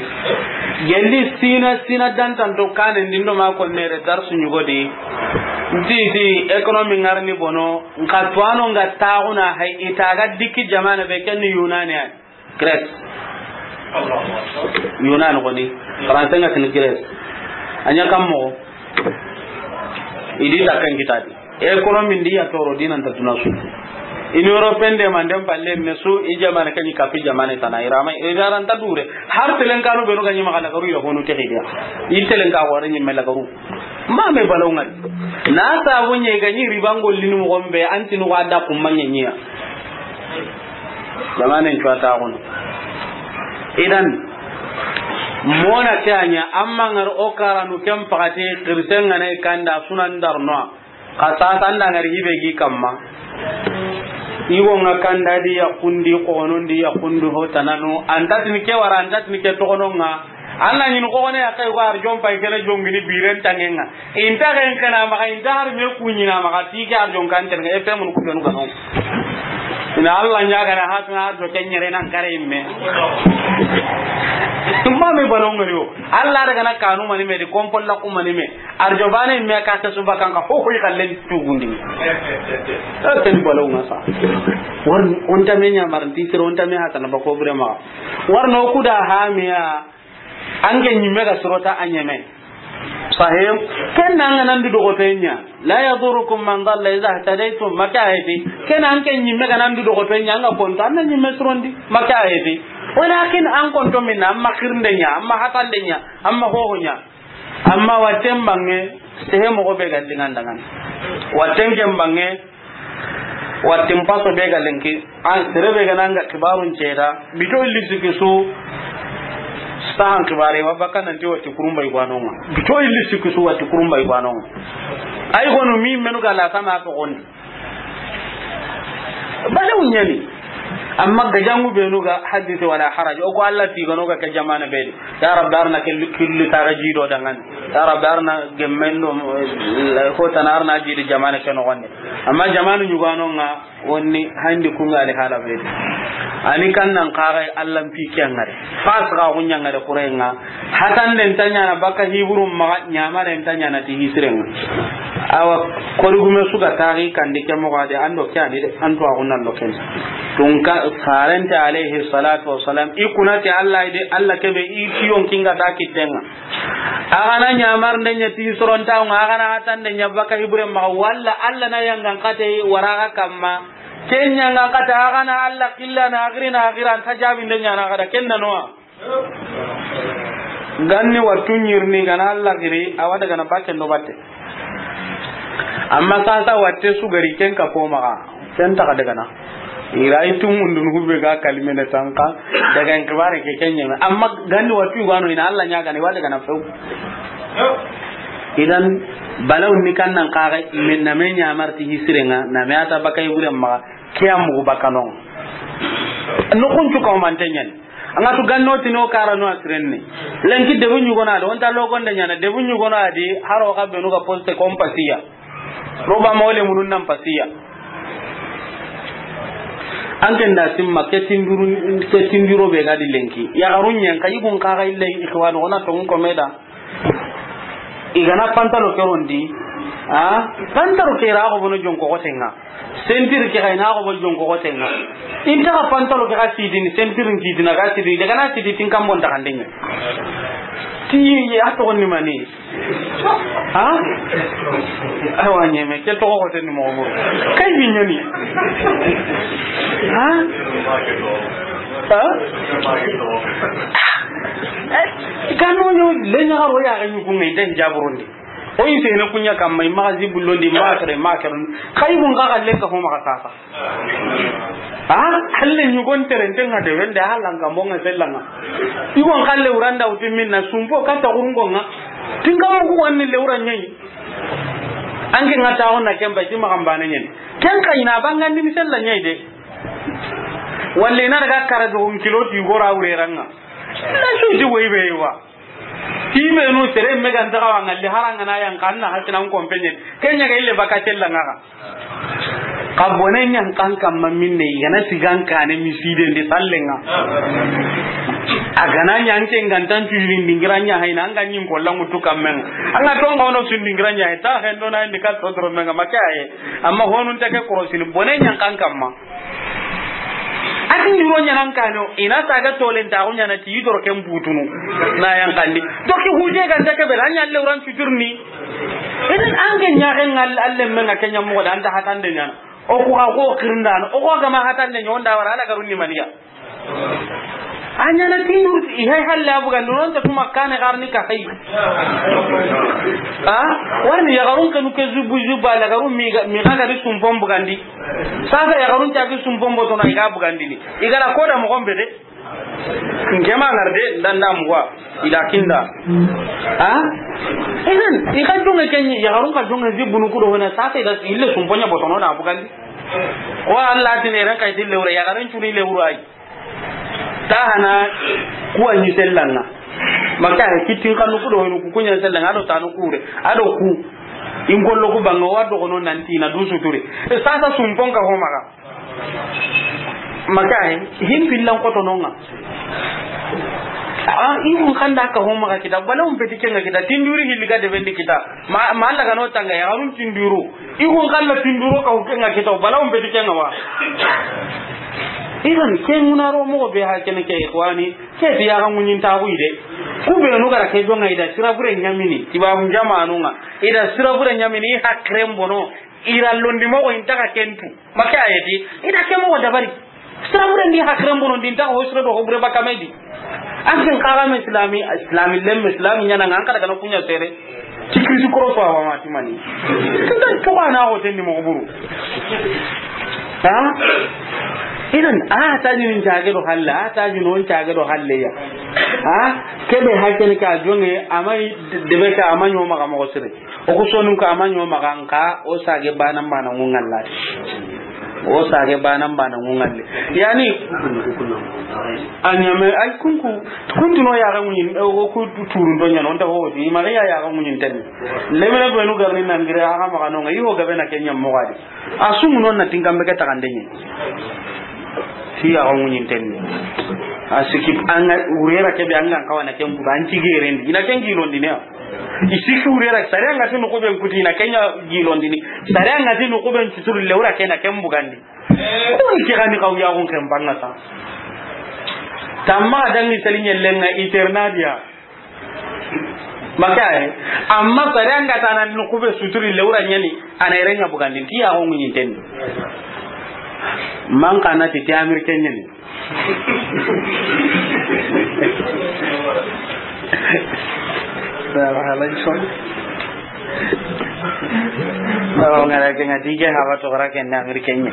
Gelli sina, sina dantan to kanen dindo ma ko nere darsu ɲugo di. Nti, ti économie ngarni bono, nka tuano nga taxuna hay itaga diki jamane be ken Yunani an. Grèce. Yunani koni. Français nga tini Grèce. Anya kam mo. Idi ta kan kitadi. Économie ndi ya toro dinan ta tuna su. Union européenne de manden palle me su i jamane kan kapi jamane tana irama. Idaran ta dure. Har telen kanu be no ganyi magala garu ya honu te gidiya. I telen ka wara nyi mela garu. Ma me balaw ngari. Na sabu nye ganyi ribangol linu mo gombe antinu wada kumanya nyiya. Zamanin cuwa ta gono. Idan, mona ke anya, amma ngar o karanu ken pakati, kirisen ngana i kanda sunan darno. Ka sasa nda ngar hibe gi kamma. Igo nga kanda di ya kundi, kono ndi ya kundi ho tanano. Antatini ke wara, antatini ke tokono nga. Alla ɲini xogone ya kay ko arjon pay kene jongini biren tangenga. Inta ken kana maxa, inta har me kuɲina maxa, ti ke arjon kan tenga, e pe mun ku benu kanu. Ina Alla ɲaga na hatuna arjo kenyere nan kare imme. Tumma me balon ngari o. Alla daga na kanu mani me di kompol la ku mani me. Arjo bane imme ka ta suba kan ka ho ho i kallen tugundi. E ken balon ngasa. War on ta me ɲamar ti sir on ta me hatana ba ko brema. War no kuda hamiya. An ke ɲimme ga sirota a ɲeme. Sahim, ken na an ga nan du dogoto ɲa. La yadurukum man dalla idha ihtadaytum, maka ayati. Ken an ke ɲimme ga nan du dogoto ɲa, an ga konto, an na ɲimme sirondi, maka ayati. Walakin an konto minna, amma xirnde ɲa, amma hatande ɲa, amma hoho ɲa. Amma watten bange, sehe mogo be ga lingan dangan. Watten ken bange, Wattin paso be ga lenki, an sere be ga nanga kibarun ceda, bito illi sikisu, sahan kibare, wa baka nanti watti kurumba igwanonga. Bito illi sikisu watti kurumba igwanonga. Ay gonu mi menu ga la sama to gondi. Bale unyani. Amma gajangu benu ga hadisi wala haraj. O ko Allah ti gano ga ke jamana be di. Ya Rabbi, arna ke killu taraji do dangan. Ya Rabbi, arna gemmen do, eh, hotana arna jidi jamane ke noxonde. Amma jamanu ɲugano ŋa, wonni handi kunga ali hala be. Ani kan nan kaga Allah mpi ke ŋare. Fas ga gunya ŋare kurenga. Hatan den tanya na baka hiburum maga nyamare tanya na ti hisirenga. Awa, korugume suga tagi kandi ke moga de, ando ke ani de, anto agunan loken. Tunka farente alayhi salatu wassalam, ikunati Allah de, Allah kebe i kiyon kinga ta kitenga. Agana ɲamarnde ɲa ti sorontaŋo, agana hatande ɲa baka hiburen maxa, walla Allah na yangan kate waraga kamma. Ken yangan kate, agana Allah killa na agiri na agira, anta jabinde ɲana gada, ken na noa. Ganni wattu ɲirni gana Allah giri, awa daga na batte ndo batte. Amma sasa watte sugari ken ka fo maxa, ken taxa daga na. Ira itu mundun hube ga kalimene tanka, daga en kibare ke ken ɲeme. Amma ganni wattu gano ina Allah ɲa gani wa daga na few. Idan balaw ni kan nan kaga min na me ɲamarti hisirenga, na me ata bakay buren maxa, ke amugu bakanon. No kun cuka o mantenyan. Anga tu ganno tino kara no asirenne. Lenki debu ɲugona do, onta logonde ɲana, debu ɲugona di, haro ka benu ga poste kompasiya. Roba mawle munun nan pasiya. An ken da simma, ke tinduru, ke tinduro be ga di lenki. Ya garun yan, ka yigun kaga ille ikhwan, ona to ko meda. Igana pantalo ke rondi, a? Pantalo ke ra ko bono jonko gotenga. Sentir ke ga ina ko bo jonko gotenga. Inta ka pantalo ke ga sidini, sentir ki dina ga sidini, daga na sidi tin kambon ta kandenya. Ti ya to ni mani. Ha? Awa ɲeme, ke to goten mo mo. Kay bi ɲani. Ha? Ha? Kanu yo le ɲa ro ya ga ɲugu ngai den jaburundi. O yi sene kunya kamma, i maxa zibullondi, i maxa kere, i maxa kere. Xay, i gun xa xalle ka fo maxa sasa. A, xalle ɲugon terenten ŋa de, wende a langa mo ŋa sellanga. I gon xalle wuranda wuti minna, sumpo katta xurungo ŋa. Tinga mugu wanni le wura ɲayi. Anke ŋa taxo na kemba, ti maxa mbane ɲen. Ken xa ina bangandi mi sella ɲayi de. Walla ina daga kara do kilo ti gora wureranga. Na su di woy be wa. Ti benu sere me ga nta xa wa ŋalli, haranga na yan xa na hasina n kompenye. Kenya ga ille baka tella ŋa xa. Xa bone ɲan kan kamma minne, i gana sigan kane miside ndi sallenga. A gana ɲa anke ngantan tuyini ndingira ɲa hayna, anga ɲin ko langu tu kammenga. Anga tonga ono su ndingira ɲa hay, ta hendo na ndi ka sodro menga, make aye. Amma honun take korosini, bone ɲan kan kamma. A ti nduro ɲanan kano, ina saga tolen ta ko ɲana ti idoro ken butunu. Na yan kandi. Doki huje ganta ke bela ɲa le uran cuturni. Idan an ke ɲaxen ŋa, alle men ŋa ke ɲa moxo da anta hatande ɲana. O ku xa xo xirindano, o ku xa gama hatande ɲa, o nda wara ala garun ni maniya. A ɲana tindur, i hay halle a bugandi, non ta tuma kane garni ka hay. A, warni yaxarun kanu ke zubu zuba, la garun mi ga, mi ga gari sumpon bugandi. Sasa yaxarun ta ke sumpon botono, i ga bugandini. I ga la koda moxon be de. Nke ma ŋar de, nda nda muwa, ila kinda. Ha? Idan, i ka jonge ken ɲi, yaxarun ka jonge zibunu kudo hona, sasa ida ille sumponya botono na bugandi. Wa Allah tine ran kay dille wura, yaxaren cuni le wura ay. Ta hana kuwa ɲi sellanga. Maka he kitin kanu kudo hona, ku kunya sellanga, ado tanu kure, ado ku. In gollo ku banga wa dogono nanti na du suturi. E sasa sumpon ka ho maxa. Maka he, him pillan koto nonga. A, i kun kanda ka ho maxa kita, bala um peti kenga kita, tinduri hilli ga de bendi kita. Ma, ma Allah kano tanga ya, harun tinduru. I kun kalla tinduro ka ho kenga kita, bala um peti kenga wa. Idan, ke ŋuna ro moxo be ha kene ke, ikhwani, ke ti ya ga ŋuɲin ta ku ide. Ku be no gara ke jonga ida, sira bure ɲamini, tibabu jamanu ŋa. Ida sira bure ɲamini, i hakren bono. Ira londi moxo inta ka kentu. Make ayeti. Ida ke moxo dabari. Sira bure ndi hakren bono ndi inta ka ho sira do ho bure bakamedi. An ken kaga me islami, islami lem islami ɲana ŋa an kada kana kunya sere. Tikri su koro so awa mati mani. Kanta to ana ho tenni moxo buru. Ha? Idan a ta ni njage do halla, a ta ni non njage do halle ya. Ha? Kebe hakene ka jonge amai debe ka amanyo maga moxo sire. O ku sonun ka amanyo maga nka o sage bana bana ngungallati. O sage banan bana ŋuŋalle. Yani, a ɲame, ay kunku, kuntu no yaga ŋuɲin, o ku turun do ɲano, nta ho di, i ma ya yaga ŋuɲin ten. Lemene benu garni nangire, aga maga no, i ho gabe na ke ɲam mo gadi. A sumu non na tinkambe ke tagande ɲi. Ti yaga ŋuɲin ten. A sikip anga, urera kebe anga kawana ken buga, anti gerendi. Ina ken gilondini ya. I siki urera, sare anga ti no ko ben kuti, ina kenya gilondini. Sare anga ti no ko ben suturu le ura kena ken bugandi. Ko ni ke gani kaw ya gon ken banga sa. Tamma dangi sali ɲellenga eternadia. Makaye. Amma sare anga tana no ko be suturi le ura ɲani, ana irenga bugandi. Ti ya gon ɲin ten. Man kana ti ti amir kenyani. Sara halai son. Sara ngara ke ngati ke hawa to gara ke na Amérique ɲi.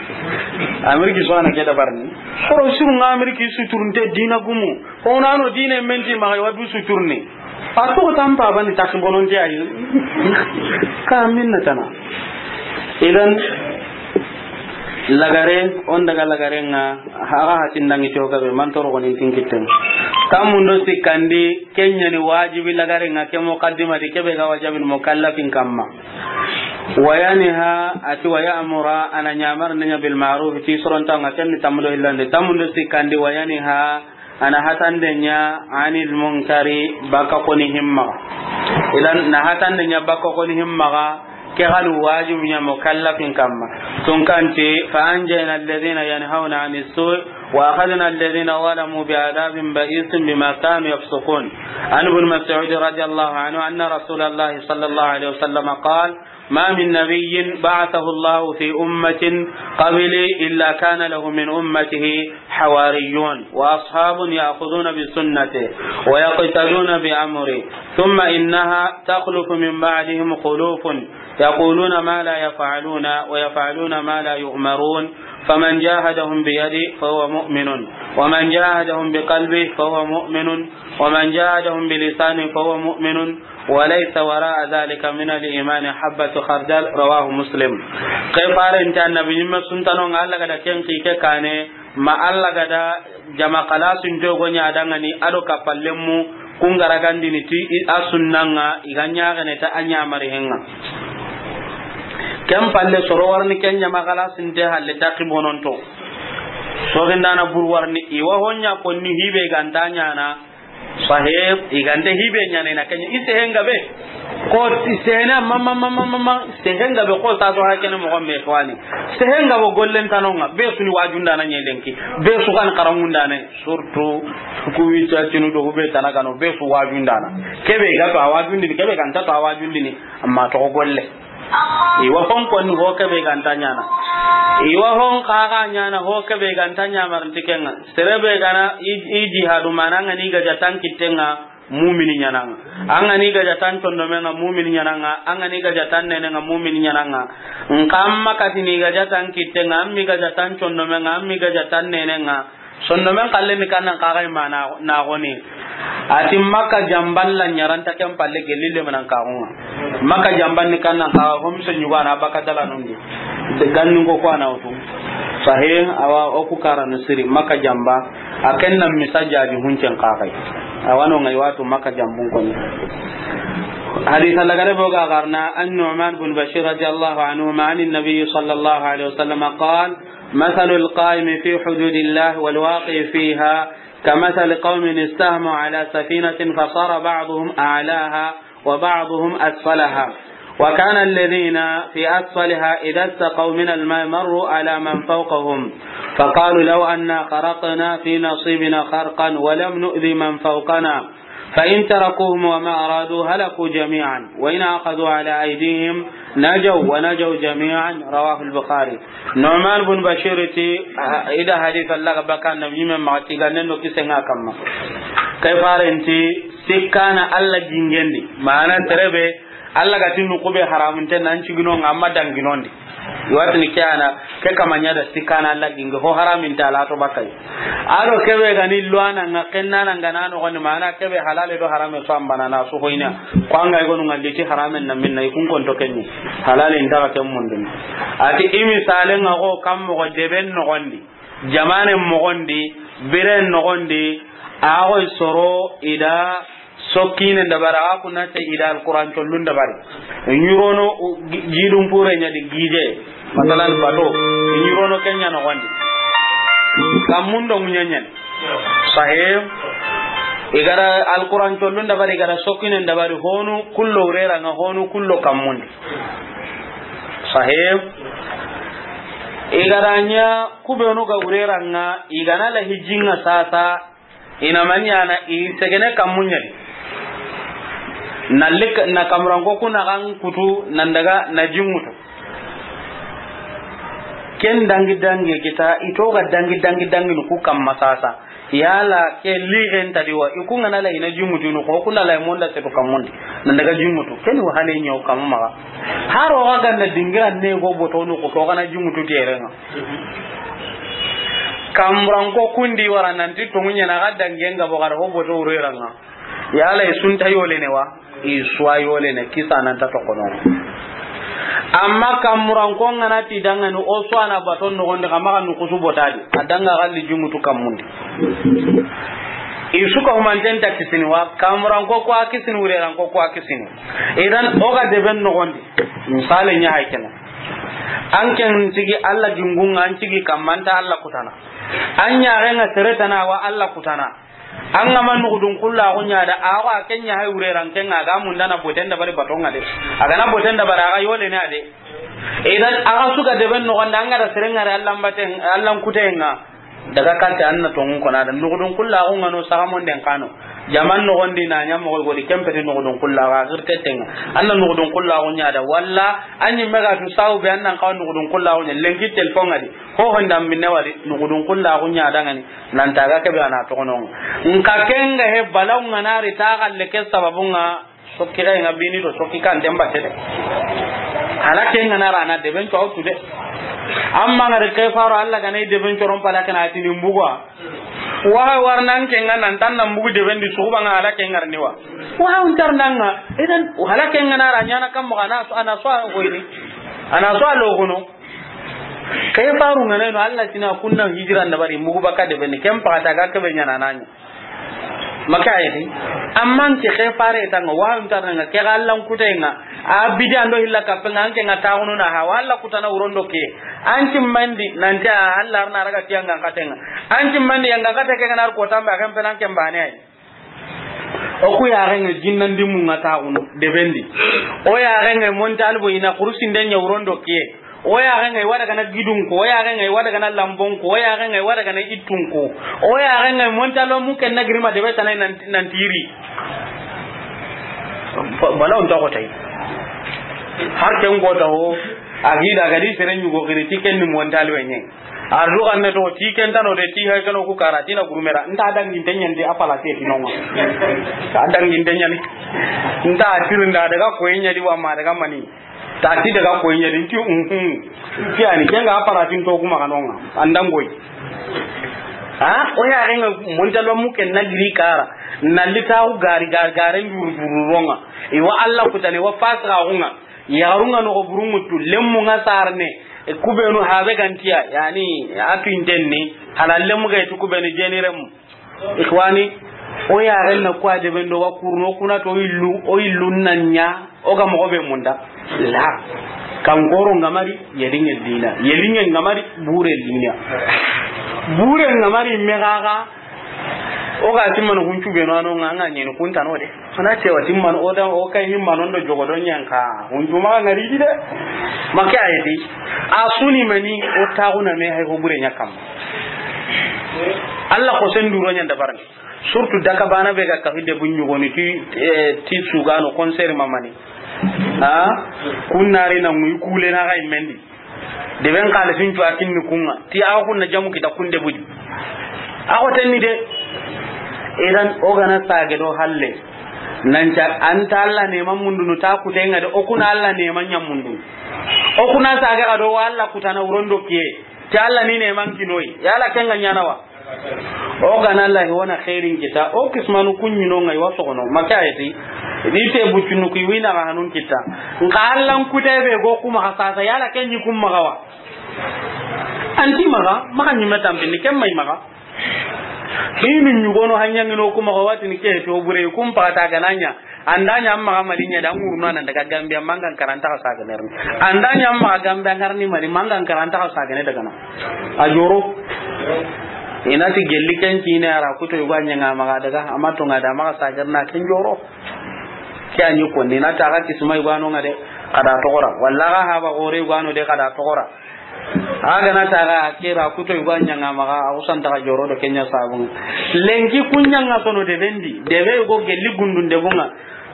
Amérique so ana ke da barni. Soro suru nga Amérique suturunte dina gumu. Ko nano dina menti ma wa du suturni. A to tampa bani taxi bononte ayi. Ka minna tana. Idan lagare, on daga lagare nga, haga hatin dangi to gabe, man toro gonin tin kitten. Tamundo sikandi, kenyani wajibi lagare nga, ke muqaddima di, kebe ga wajibin mukallafin kamma. Wayaniha, ati wayamura, ana nyamar nanya bil ma'ruf, ti soronta nga, ken tamundo illande. Tamundo sikandi, wayaniha, ana hatande nya anil munkari, baka koni himma. Idan na hatande nya baka koni himma, ke ganu wajibu nya mukallafin kamma. Tun kanti, fa anjayna alladhina yanhauna anis su'i wa akhadna alladhina zalamu bi adhabin ba'isin bima kanu yafsuqun. An Ibn Mas'ud radiyallahu anhu anna Rasulullah sallallahu alaihi wasallam qala, ما من نبي بعثه الله في أمة قبلي إلا كان له من أمته حواريون وأصحاب يأخذون بسنته ويقتدون بأمره، ثم إنها تخلف من بعدهم خلوف يقولون ما لا يفعلون ويفعلون ما لا يؤمرون، فمن جاهدهم بيده فهو مؤمن، ومن جاهدهم بقلبه فهو مؤمن، ومن جاهدهم بلسانه فهو مؤمن، وليس وراء ذلك من الإيمان حبة خردل. رواه مسلم. Ke farenti annabi ɲimme suntano nga Alla gada ken ki ke kane, ma Alla gada jama xalasun jogo ɲa dangani, ado kapallenmu kun garagandini ti i a sunnanga, i ga ɲaxene ta a ɲamari henga. Ken palle soro warni ken jama xalasinte halle taqi bononto. Sogindana bur warni i wa honya konni hibe ganta ɲana. Sahib, i gante hibe ɲana ina kenya. I sehenga be. Ko i sehena ma, ma, ma, ma, ma, ma. Sehenga be ko sa to hakene mo gombe fani. Sehenga bo gollen tanonga. Be suni wajundana ɲelenki. Be su kan karamundana. Surtout, ku wi cacinu do be tanagano. Be su wajundana. Kebe ga to awajundini. Kebe ganta to awajundini. Amma to golle. I wa hon konni ho kebe ganta ɲana. I wa hon kaga ɲana ho kebe ganta ɲamarinti kenga. Sere be gana i, i jihadu mana nga ni gaja tan kittenga mumini ɲananga. Anga ni gaja tan condomenga mumini ɲananga. Anga ni gaja tan nenenga mumini ɲananga. Nkamma katini gaja tan kittenga, ammi gaja tan condomenga, ammi gaja tan nenenga. Sondomen kallen ni kannan kaga imana na goni. Ati Makka jamban la ɲaranta ken palle gelli le manan kagunga. Makka jamban ni kannan kaga homse ɲugana baka dalanundi. De ganni ko ko ana wutu. Sahih, awa o ku karanu siri Makka jamba. A ken nan misajaji huncen kagai. Awano ngai watu Makka jambun koni. Hadith lagare boga garna an Nu'man bin Bashir radiyallahu anhu ma an Nabi sallallahu alaihi wasallam qala, مثل القائم في حدود الله والواقع فيها كمثل قوم استهموا على سفينة فصار بعضهم أعلاها وبعضهم أسفلها، وكان الذين في أسفلها إذا استقوا من الماء مروا على من فوقهم فقالوا لو أنا خرقنا في نصيبنا خرقا ولم نؤذ من فوقنا فإن تركوهم وما أرادوا هلكوا جميعا وإن أخذوا على أيديهم نجوا ونجوا جميعا. رواه البخاري. Nu'man bin Bashir ti, ah, ida hadith Allah ga baka annabi ɲimme ma ti gannen do kisenga kamma. Kay farenti sikkana Allah jingendi. Mana terebe Allah ga tinu kube haramunte nan cigino nga amma danginondi. Watini ke ana, ke kama ɲa da sikana lagi nge ho haramin ta la to bakai. Ado kebe ga ni luana nga kenna na nga na no goni mana kebe halale do harame so ambana na su hoina. Ko anga gonu nga liti haramen na minna ikun konto kenni. Halale inta ken mundin. Ati imi sale nga ko kam mo deben no gondi. Jamane mo gondi, biren no gondi, a go soro ida sokkinen dabari, a ga kunna te ida Alquran collun dabari. Ɲurono, gi-, gidun pure ɲa di gije. Masalan, bato. Ɲurono kenya no gondi. Kammun do ɲanyen. Sahih. Igara Alquran collun dabari, igara sokkinen dabari, honu kullo urera nga, honu kullo kammundi. Sahih. Igara ɲa kubenu ga urera nga, igana la hijinga sasa, ina manyana i segene kammunyadi. Na lik-, na kamuranko kuna kan kutu, nan daga na jingutu. Ken dangi dangi kita, ito ga dangi dangi dangi ku kamma sasa. Yala ke ligen tadi wa, iku ngana la ina jumutinu ko, kuna la monda setu kamundi. Nan daga jumutu. Ken wa hale nyaw kamma. Haro ga ganda dingira ne go botonu ko, ko kana jumutu terenga. Kamran ko kundi wara nanti to munya na ga dangenga bo gar ho boto ureranga. Yala i sunta yolene wa, i suwa yolene, kisa nan ta tokono. Amma kamuran ko ngana ti dangani o suwa na baton no gonde kama kan kusu botadi. Adanga galli jumutu kamundi. I suka humanten ta kisini wa, kamuran ko ko a kisini, ureran ko ko a kisini. Idan o ga deben no gondi. Misale nya hay kena. An ken tigi Allah gingunga, an tigi kamanta Allah kutana. An ɲaxe nga seretana wa Allah kutana. An ga ma nugudun kullaxu ɲa da, awa ken ɲa hay ureran ken ga mundana boten dabari batonga de. A gana boten dabari a ga yolene a de. Idan a ga suga deben noxonda, an ga da serengare Allan baten, Allan kutenga. Daga katte an na tongun kona da. Nugudun kullaxu nga no sagamonden kano. Jaman noxondi na ɲa moxo godi kempeti nugudun kullaxu a xirtetenga. An na nugudun kullaxu ɲa da. Walla an ɲi mega tu sawu be an nan kawa nugudun kullaxu ɲa. Lenki telefon ga di. Ho honda minne wari nugudun kullaxu ɲa dangani. Nan taga kebe ana toxono. Nka kenga he balaw nga nari ta galle ke sababunga sokki ga nga bini do sokki kan demba tede. Hala kenga nara na deben to autu de. Amma ngare ke faro Allah ga nay deben to ron pala kana tini mbugwa. Wa warnan kenga nan tan nan bugu deben di suba nga hala kenga ni wa. Wa untar nanga idan hala kenga nara ɲana kam mo ana so ana so ko ini. Ana so lo gono. Ke faru ngana no Allah tina kunna hijira ndabari mugu baka de beni kem pata ga ke be ɲana nanya. Maka ayati. Amman ke ke fare tanga wa untar nga ke Allah kutenga. A bidi ando hilla kapenga anke nga taxunu na ha walla kutana urondo ke. Anti mandi nanti Allah arna raga tianga katenga. Anti mandi yanga kate ke ganar ko tamba kan penan ke mbane ay. O ku yaxenga jinnandi munga taxunu debendi. O yaxenga montalbo ina kurusinde ɲa urondo ke. O yaxenga i wada gana gidun ko, o yaxenga i wada gana lambon ko, o yaxenga i wada gana ittun ko. O yaxenga montalbo mu ken na girima debe tanai nan, nan tiri. Ba-, bala on ta ko tay. Har ken go ta ho, agida gadi sere ɲugo giri ti ken ni montalbo ɲe. Ardu ganne to ti ken tano de ti hay kano ku kara ti na gurumera. Nta dangin tenyen de apala te ti nonga. Ta dangin tenyen. Nta tirinda daga ko yen ɲa di wa ma daga mani. Ta ti daga ko yen ɲa di ti, mhm. Ti ani kenga apala tin to kuma kanonga. Andangoy. Ha? O yaxenga montalbo mu ken na giri kara. Na litaxu gari, gari, gari nduru buru ronga. Iwa Allah kutane wa fasra hunga. Yaxarunga noxo burungutu, lemmunga sarne, e, kubenu habe gantiya, yani, a tuinten ni, hala lemmu ga iti kubenu jeni remu. Ikhwani, o yaxen na kuwa deben do wa kurno kuna to o illu, o illu nan ɲa, o ga moxo be munda. La. Kankoro ngamari, yelinge dina. Yelinge ngamari, bure dina. Bure ngamari, megaga, O ga timmano huncu be no ano nga nga nyeni kunta no de. Ana cewa timmano o da o kay himmano ndo jogo do nyanka. Huncu ma ngari di de. Make ayeti. A suni mani o taxuna me hay ho bure ɲa kam. Allah ko sen duro ɲa dabarni. Surtout daka bana be ga ka hidde bunyu goni ti, eh, ti sugano concert mamani. Ha? Kunnari na ngui kule na ga imendi. Deben xalisin cuwa kinni kunga. Ti awa kunna jamu kita kunde budi. Awa tenni de. Idan o gana sage do halle. Nanca anta Allah neman mundunu ta kutenga de o kuna Allah neman ɲa mundunu. O kuna sage ga do wa Alla kutana wuron do kiye. Ti Alla ni ne man kinoyi. Yala ken ga ɲana wa? O ga na Alla hi wa na xeerin kita. O kismanu ku ɲi no ŋa i wa soxono. Maka ayeti. Ni te buccunu ku i wi na ga hanun kita. Nka Alla n kute be go ku maxa sasa. Yala ken ɲi ku maxa wa? An ti maxa, maxa ɲi me tampini, ken ma i maxa. Hinu ɲugono hanyaŋino ku maxa wa ti ni ke to bure ku n paxata ga na ɲa. An da ɲa maxa Mali ɲa da ŋuruna nan daga Gambia mangan karanta xa saga nerni. An da ɲa maxa Gambia ngarni Mali mangan karanta xa saga ne daga na. A joro. I na ti gelli ken kine a ra kuto yugo a ɲaŋa maxa daga, amma to ŋa da maxa saga na ken joro. Ke a ɲi konni na ta ga kisma yugo a no ŋa de, xa da toxora. Walla ga haba gore yugo a no de, xa da toxora. A ga na ta ga ke ra kuto yugo a ɲaŋa maxa, a wusan ta ga joro do ken ɲa sabun. Lenki ku ɲaŋa sono de bendi, de be go gelli gundun de bunga.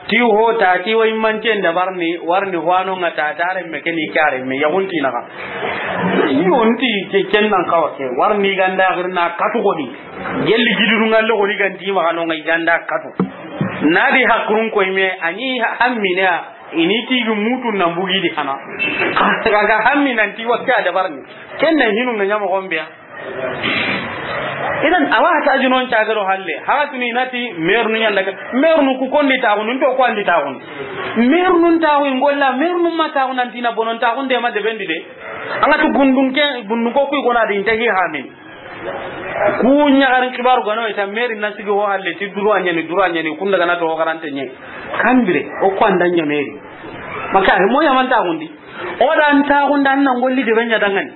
Ti ho ta, ti wa i manten dabarni, warni ho a no ŋa ta, ta renme ke ni kare me, ya gunti na ga. Yo nti ke ken nan xawa ke, warni ganda xirna katu goni. Gelli giduru ŋalle goni ganti maxa no ŋa i ganda katu. Na di hakurun ko i me, a ɲi ha-, hammine a, i ni ti gi mutu nan bugi di hana. Xa ga hammi nan ti wa ke a dabarni. Ken na hinu na ɲa moxo be ya. Idan, awa ta jinon cagaro halle. Haga tuni na ti mernu ɲanda ka. Mernu ku kondi taxunu, nto ko andi taxunu. Mernu taxu i ŋolla, mernu ma taxu nan ti na bonon taxun de ma de bendi de. An ga tu gundun ke, gundun ko ku i gona de inte hi hamin. Ku ɲaxarin xibaru gano ita meri na sigi ho halle ti duru a ɲani, duru a ɲani, kun daga na to garante ɲe. Kambire, o ko anda ɲa meri. Maka, mo ya man taxundi. O da an taxunda an na ŋolli de be ɲa dangani.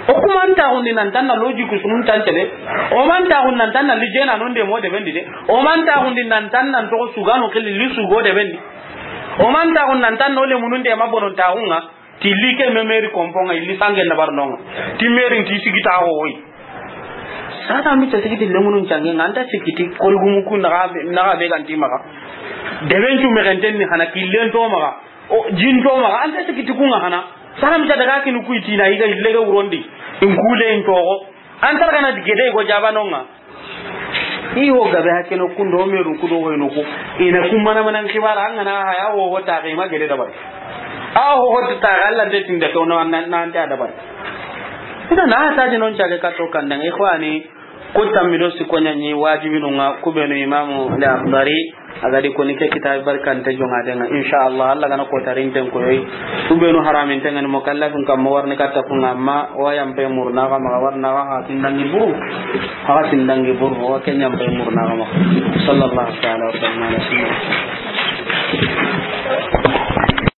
O kuma an taxundi nan tan na logique sunun tan tele. O man taxundi nan tan na lijena non de mo de bendi de. O man taxundi nan tan nan to sugano kili li sugo de bendi. O man taxundi nan tan no le munun de ma bonon taxunga. Ti li ke me meri komponga, ili sange na bar nonga. Ti meri ti sigi ta ho hoy. Sata mi ta sigi ti lemunun cange, nganta sigi ti kori gumu ku na ga be, na ga be ganti maxa. De ben cu me genten ni hana killen to maxa. O, jin to maxa, an ta sikiti kunga hana. Salam ja daga kinu kuitina, i ga ille ga wurondi. In kule in togo. An tar gana gede go jabanonga. I ho gabe hakeno kundo meru kudo go ino ko. Ina kumana manan kibara an gana haya ho ho ta ga ma gede dabar. A ho ho ta ga Allah de tinda to no nan nan ta dabar. Ina na ta ji non jage ka to kandang ikhwani. Ku tammi do sikko ɲa ɲi wajibinu ŋa, ku benu Imamu Al-Akhdari a ga di koni ke kitabi barkante joŋa de ŋa, insha Allah, Allah gana ko tarinten koyoyi. Ku benu haraminten ŋa ni mukallafin kamma warni katta ku ŋa, amma o yan pe murna ga maxa warna ga ha tindangi buru, ha tindangi buru, o ken yan pe murna ga maxa. Sallallahu ta'ala wa sallam ala sayyidina.